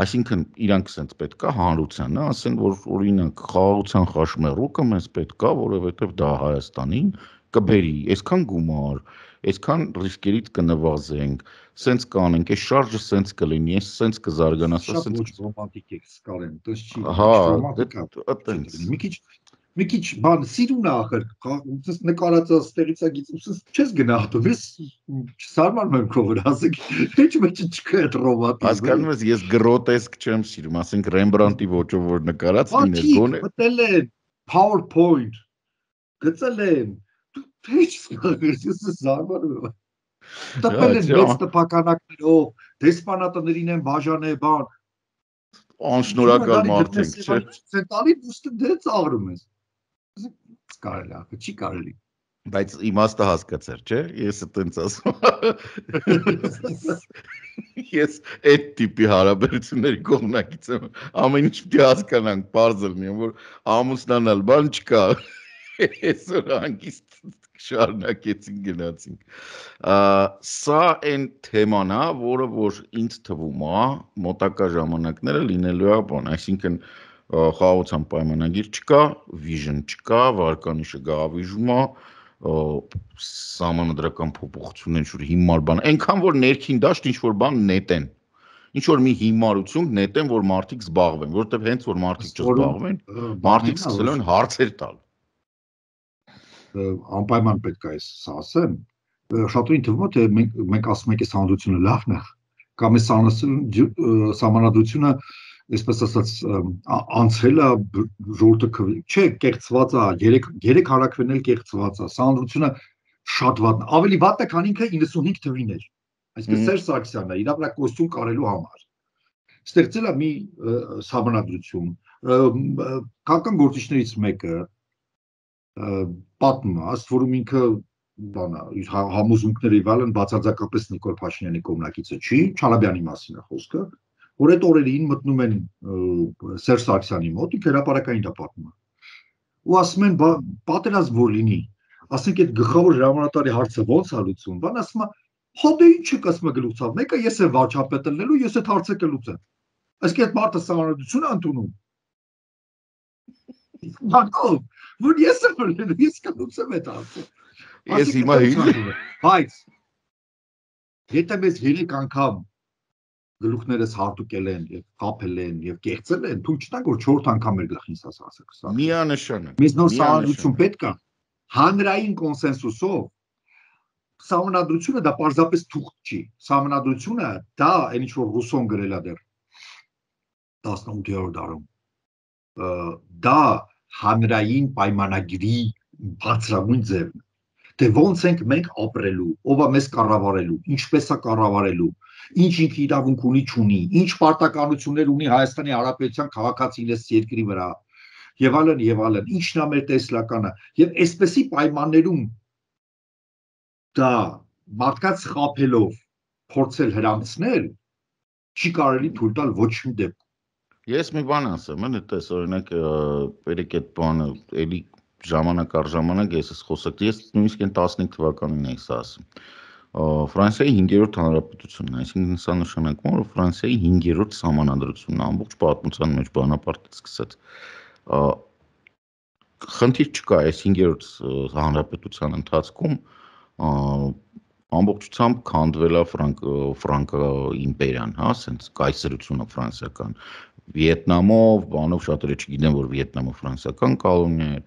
Speaker 2: Այսինքն իրանք sense պետքա հանրությանը ասեն որ օրինակ խաղաղության խաշմերուկը մեզ պետքա որովհետև դա Հայաստանին կբերի այսքան գումար այսքան ռիսկերից կնվազենք sense կանենք այս շարժը sense կլինի այս sense կզարգանա
Speaker 1: շատ ոչ ռոմանտիկ է սկալեն դες չի
Speaker 2: հա
Speaker 1: ռոմանտիկ մի քիչ մի քիչ բան սիրուն է ախր ուսս նկարածը ստեղից է գից ուսս չես գնահատում ես սարմանում եմ քո վրա ասեք ինչ մեջ չկա այդ ռոմանտիզմը
Speaker 2: հասկանում ես ես գրոտեսկ չեմ սիրում ասենք Ռեմբրանտի ոճով որ նկարած լիներ
Speaker 1: գոնե մտել են PowerPoint գծել են դու ինչ սկսես ես սարմանում եմ տպել են մեծ տպականակներով դեսպանատներին են բաժանել բան
Speaker 2: անշնորհակալ մարդ ենք չէ
Speaker 1: ցենտալի դուստը դե ծաղրում ես կարելի է, չի կարելի։
Speaker 2: Բայց իմաստը հասկացար, չէ՞, ես այտենց ասում։ Ես այդ տիպի հարաբերությունների կողմնակից եմ, ամեն ինչ պիտի հասկանանք, պարզ լինի, որ ամուսնանալ բան չկա։ Այսօր հանգիստ շարունակեցին գնացինք։ Սա այն թեման է, որը որ ինձ թվում է, մոտակա ժամանակները լինելու է բան, այսինքն խաղաղության պայմանագիր չկա, vision չկա, վարկանիշը գավիժում է, սահմանադրական փոփոխություններ ինչ-որ հիմար բան, այնքան որ ներքին դաշտ ինչ-որ բան նետեն, ինչ-որ մի հիմարություն նետեն, որ մարդիկ զբաղվեն, որովհետև հենց որ մարդիկ չզբաղվեն, մարդիկ սկսել են հարցեր տալ։
Speaker 1: Անպայման պետք է այս ասեմ, շատերին թվում է, թե մենք ասում ենք այս հանրությունը լավն է, կամ այս սահմանադրությունը այսպես ասած անցել է ժողովուրդը չէ կեղծված է երեք հարակվեն էլ կեղծված է սահմանադրությունը շատ վատ ավելի վատ է քան ինքը իննսունհինգ թվին էր այսինքն Սերժ Սարգսյանն է իր վրա կոստյում կարելու համար ստեղծել է մի սահմանադրություն քաղաքական գործիչներից մեկը պատմում է աստ որում ինքը բանա իր համոզմունքները իվալն բացարձակապես Նիկոլ Փաշինյանի կողմնակիցը չի Չալաբյանի մասին է խոսքը որ այդ օրերին մտնում են Սերժ Սարգսյանի մոտ, ինքը հրապարակային դա պատմում է։ Ու ասում են, պատերազմ որ լինի, ասենք այդ գլխավոր հրամանատարի հարցը ո՞նց է լուծվում, բան ասում է, հո դե ինչ եք ասում գլուխցավ, մեկը ես եմ վարչապետը լինելու, ես այդ հարցը կլուծեմ։ Այսինքն այդ մարդը սահմանադրություն է ընդունում։ Բանով, որ ես եմ լինելու, ես կլուծեմ այդ հարցը։
Speaker 2: Ես հիմա
Speaker 1: բայց եթե մեզ երեք անգամ գլուխներս հարտուկել են եւ խափել են եւ կեղծել են, թույլ չտանք որ չորրորդ անգամ մեր գլխին սա ասա։
Speaker 2: Միանշանակ։
Speaker 1: Մեզ նոր սահմանադրություն պետք է հանրային կոնսենսուսով սահմանադրությունը դա պարզապես թուղթ չի։ Սահմանադրությունը դա այն ինչ որ ռուսոն գրել է դեռ տասնութերորդ դարում։ Դա հանրային պայմանագրի բարձրագույն ձևն է։ Թե ոնց ենք մենք ապրելու, ով է մեզ կառավարելու, ինչպես է կառավարելու, ինչ ինքը իրավունք ունի չունի, ինչ պարտականություններ ունի Հայաստանի Հանրապետության քաղաքացին այս երկրի վրա, եւ այլն եւ այլն, ինչն է մեր տեսլականը, եւ այսպեսի պայմաններում դա մարդկանց խափելով փորձել հրանցնել չի կարելի թույլ տալ ոչ մի դեպքում։
Speaker 2: Ես մի բան ասեմ, այդպես օրինակ երեք այդ բանը էլի ժամանակ առ ժամանակ ես խոսակ, ես նույնիսկ այն տասնհինգ թվականին էի սա ասում։ Ֆրանսիայի հինգերորդ հանրապետությունն, այսինքն սա նշանակում է, որ Ֆրանսիայի հինգերորդ սահմանադրությունն ամբողջ պատմության մեջ բանապարտից սկսած խնդիր չկա այս հինգերորդ հանրապետության ընթացքում ամբողջությամբ քանդվել է ֆրանկա իմպերիան, հա, ասենց կայսրությունը ֆրանսիական, Վիետնամով, բանով շատերը չգիտեն, որ Վիետնամը ֆրանսիական կոլոնիա էր,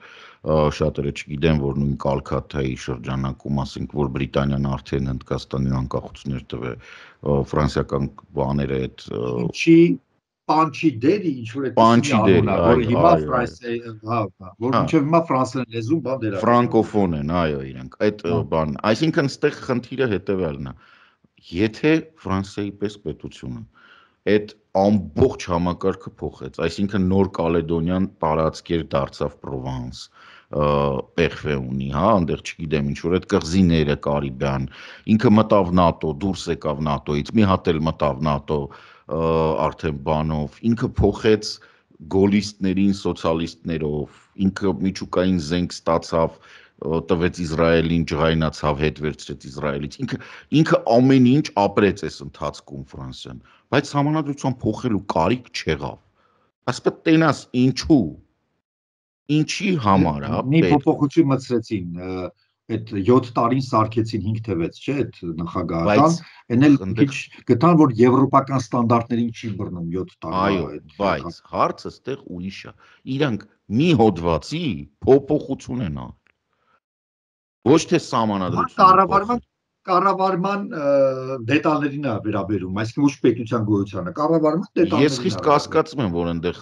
Speaker 2: շատերը չգիտեն, որ նույն Կալքաթայի շրջանակում, ասենք, որ Բրիտանիան արդեն Հնդկաստանին անկախություններ տվել, ֆրանսիական բաները այդ
Speaker 1: ինչի Պանչի դերի ինչ որ
Speaker 2: Պանչի դերի,
Speaker 1: որ հիմա Ֆրանսիայի, հա, որ մինչև հիմա ֆրանսերեն լեզուն բան դեր է։
Speaker 2: Ֆրանկոֆոն են, այո, իրենք։ Այդ բան, այսինքն այստեղ խնդիրը հետևյալն է։ Եթե Ֆրանսիայի պես պետությունը այդ ամբողջ համակարգը փոխեց, այսինքն նոր Կալեդոնիան տարածքեր դարձավ Պրովանս, Պերֆե ունի, հա, այնտեղ չգիտեմ ինչ որ այդ կղզիները Կարիբյան, ինքը մտավ նատո, դուրս եկավ նատոից, մի հատ էլ մտավ նատո, արդեն բանով, ինքը փոխեց գոլիստներին սոցիալիստներով, ինքը միջուկային զենք ստացավ, տվեց Իսրայելին, ջղայնացավ, հետ վերցրեց Իսրայելից, ինքը ինքը ամեն ինչ ապրեց այս ընթացքում Ֆրանսիան, բայց համանadrության փոխելու կարիք չեղավ։ Ասպետ տենաս ինչու, ինչի համար է
Speaker 1: մի փոփոխություն մտցրեցին, այդ յոթ տարին սարքեցին հինգ թվեց, չէ՞, այդ նախագահական, այն էլ քիչ գտան, որ եվրոպական ստանդարտներին չի բռնում յոթ տարի։
Speaker 2: Այո, բայց հարցը ստեղ ուրիշ է։ Իրանք մի հոդվածի փոփոխություն են անում։ Ոչ թե սահմանադրություն։
Speaker 1: Կառավարման կառավարման դետալերին է վերաբերում, այսինքն ոչ պետության գոյությանը, կառավարման դետալերին։
Speaker 2: Ես խիստ կասկածում եմ, որ այնտեղ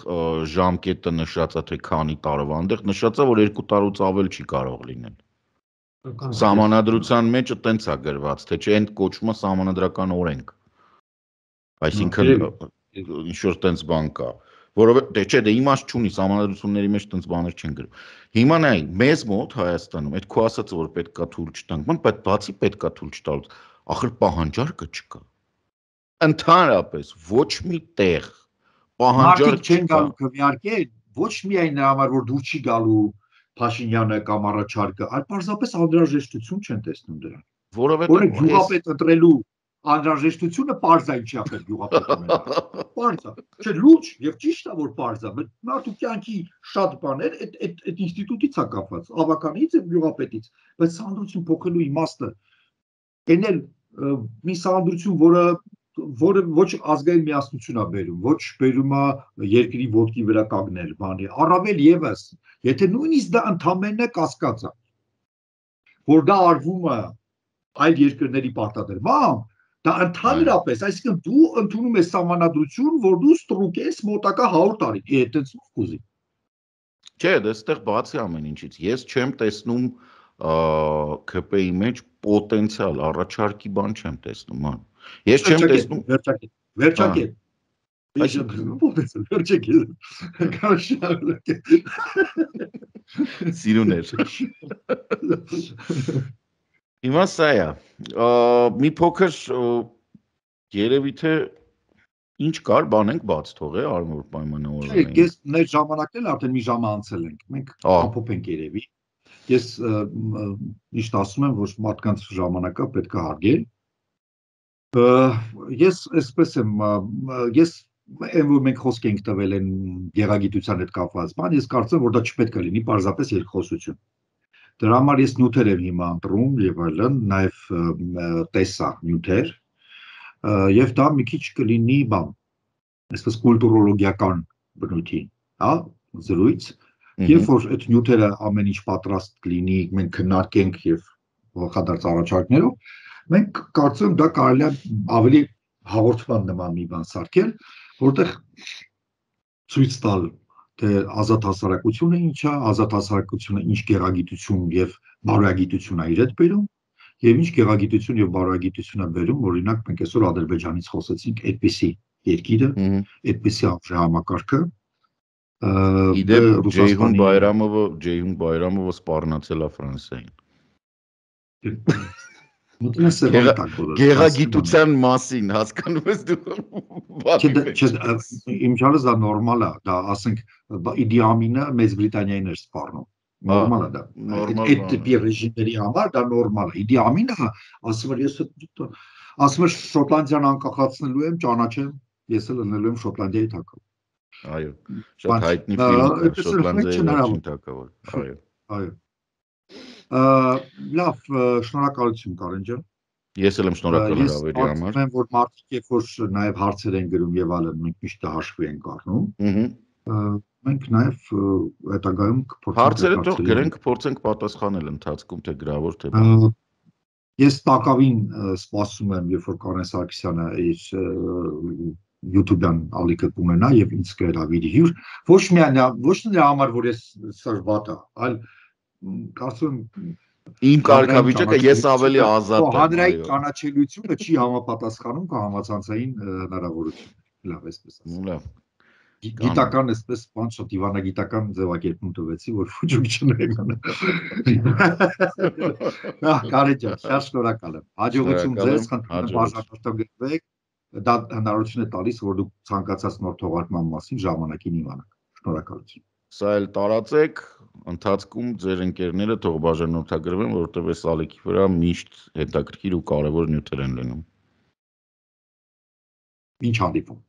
Speaker 2: ժամկետը նշած է, թե քանի տարվա, այնտեղ նշած է, որ երկու տարուց ավել չի կարող լինել։ Սահմանադրության մեջ տենց է գրված, թե չէ, այն կոչվում է սահմանադրական օրենք։ Այսինքն ինչ որ տենց բան կա, որովհետեւ չէ, դե իմաստ չունի, սահմանադրությունների մեջ տենց բաներ չեն գրում։ Հիմա նայ, մեզ մոտ Հայաստանում այդ քո ասածը, որ պետքա թույլ չտանք, ման, բայց բացի պետքա թույլ չտալուց, ախր պահանջարկը չկա։ Ընդհանրապես ոչ մի տեղ պահանջարկ
Speaker 1: չեն գալու քվեարկել, ոչ միայն նրա համար, որ դու չի գալու Փաշինյանը կամ առաջարկը, այլ պարզապես անհրաժեշտություն չեն տեսնում դրան։
Speaker 2: Որովհետեւ
Speaker 1: գյուղապետ ընտրելու անհրաժեշտությունը պարզ է ինչի ապեր գյուղապետ ունենա։ Պարզ է, չէ, լուրջ եւ ճիշտ է, որ պարզ է, բայց մարդու կյանքի շատ բաներ այդ այդ այդ ինստիտուտից է կապված, ավականից եւ գյուղապետից, բայց սահմանադրություն փոխելու իմաստը այն էլ մի սահմանադրություն, որը որը ոչ ազգային միասնություն է բերում, ոչ բերում է երկրի ոտքի վրա կանգնել, բանի, առավել եւս, եթե նույնիսկ դա ընդամենը կասկած է, որ դա արվում է այլ երկրների պարտադրմամբ, դա ընդհանրապես, այսինքն դու ընդունում ես սահմանադրություն, որ դու ստրուկ ես մոտակա հարյուր տարի, այդտենց ուզի։
Speaker 2: Չէ, դեռ բացի ամեն ինչից, ես չեմ տեսնում K P-ի մեջ պոտենցիալ առաջարկի բան չեմ տեսնում, ման։ Ես չեմ տեսնում
Speaker 1: վերջակետ, վերջակետ։ Վերջակետ։
Speaker 2: Սիրուներ։ Հիմա սա է, մի փոքր երևի թե ինչ կար, բան ենք բաց թողել, արմոր պայմանավորվել ենք։
Speaker 1: Ես մեր ժամանակն էլ արդեն մի ժամ անցել ենք, մենք ամփոփենք երևի։ Ես միշտ ասում եմ, որ մարդկանց ժամանակը պետք է հարգել։ Ես այսպես եմ, ես այն որ մենք խոսք ենք տվել են գեղագիտության հետ կապված բան, ես կարծում եմ, որ դա չպետք է լինի պարզապես երկխոսություն։ Դրա համար ես նյութեր եմ հիմա ընտրում եւ այլն, նաեւ տեսա նյութեր, եւ դա մի քիչ կլինի բան, այսպես կուլտուրոլոգիական բնույթի, հա, զրույց, երբ որ այդ նյութերը ամեն ինչ պատրաստ կլինի, մենք քննարկենք եւ հոխադարձ առաջարկներով, մենք կարծում եմ դա կարելի է ավելի հաղորդման նման մի բան սարքել, որտեղ ցույց տալ թե ազատ հասարակությունը ինչ է, ազատ հասարակությունը ինչ գեղագիտություն եւ բարոյագիտություն է իր հետ բերում, եւ ինչ գեղագիտություն եւ բարոյագիտություն է բերում, օրինակ մենք այսօր Ադրբեջանից խոսեցինք, այդպիսի երկիրը, այդպիսի համակարգը,
Speaker 2: Իդեպ Ջեյհուն Բայրամովը, Ջեյհուն Բայրամովը սպառնացել է Ֆրանսիային։
Speaker 1: Մտնում է սեփական տակ բոլորը։
Speaker 2: Գեղագիտության մասին հասկանում ես դու։
Speaker 1: Իմ չարս դա նորմալ է, դա ասենք Իդի Ամինը Մեծ Բրիտանիային էր սպառնում։ Նորմալ է դա։ Այդ տիպի ռեժիմների համար դա նորմալ է։ Իդի Ամինը ասում էր ես ասում էր Շոտլանդիան անկախացնելու եմ, ճանաչեմ, ես էլ լինելու եմ Շոտլանդիայի թագավոր։
Speaker 2: Այո, շատ հայտնի ֆիլմ է Շոտլանդիայի վերջին թագավոր։ Այո։
Speaker 1: Այո։ Լավ, շնորհակալություն Կարեն ջան։
Speaker 2: Ես էլ եմ շնորհակալ հրավերի համար։
Speaker 1: Ես ասում եմ, որ մարդիկ երբ որ նաև հարցեր են գրում եւ այլն, մենք միշտ հաշվի ենք առնում։ Մենք նաև հետագայում կփորձենք
Speaker 2: հարցերը թող գրենք, կփորձենք պատասխանել ընթացքում, թե գրավոր թե։
Speaker 1: Ես տակավին սպասում եմ, երբ որ Կարեն Սարգսյանը իր YouTube-յան ալիքը կունենա եւ ինձ կհրավիրի հյուր, ոչ միայն ոչ նրա համար, որ ես սրբատա, այլ կարծում եմ
Speaker 2: իմ կարգավիճակը ես ավելի ազատ եմ։
Speaker 1: Հանրային ճանաչելիությունը չի համապատասխանում համացանցային հնարավորություն։ Լավ, այսպես ասեմ։
Speaker 2: Լավ։
Speaker 1: Գիտական այսպես բան շատ դիվանագիտական ձևակերպում տվեցի, որ ֆուջուկ չնայեմ։ Ահա, Կարեն ջան, շատ շնորհակալ եմ։ Հաջողություն ձեզ, խնդրում եմ բաժանորդագրվեք։ Դա հնարավորություն է տալիս, որ դուք ցանկացած նոր թողարկման մասին ժամանակին իմանաք։ Շնորհակալություն։
Speaker 2: Սա էլ տարածեք, ընթացքում ձեր ընկերները թող բաժանորդագրվեն, որովհետև այս ալիքի վրա միշտ հետաքրքիր ու կարևոր նյութեր են լինում։
Speaker 1: Ինչ հանդիպում։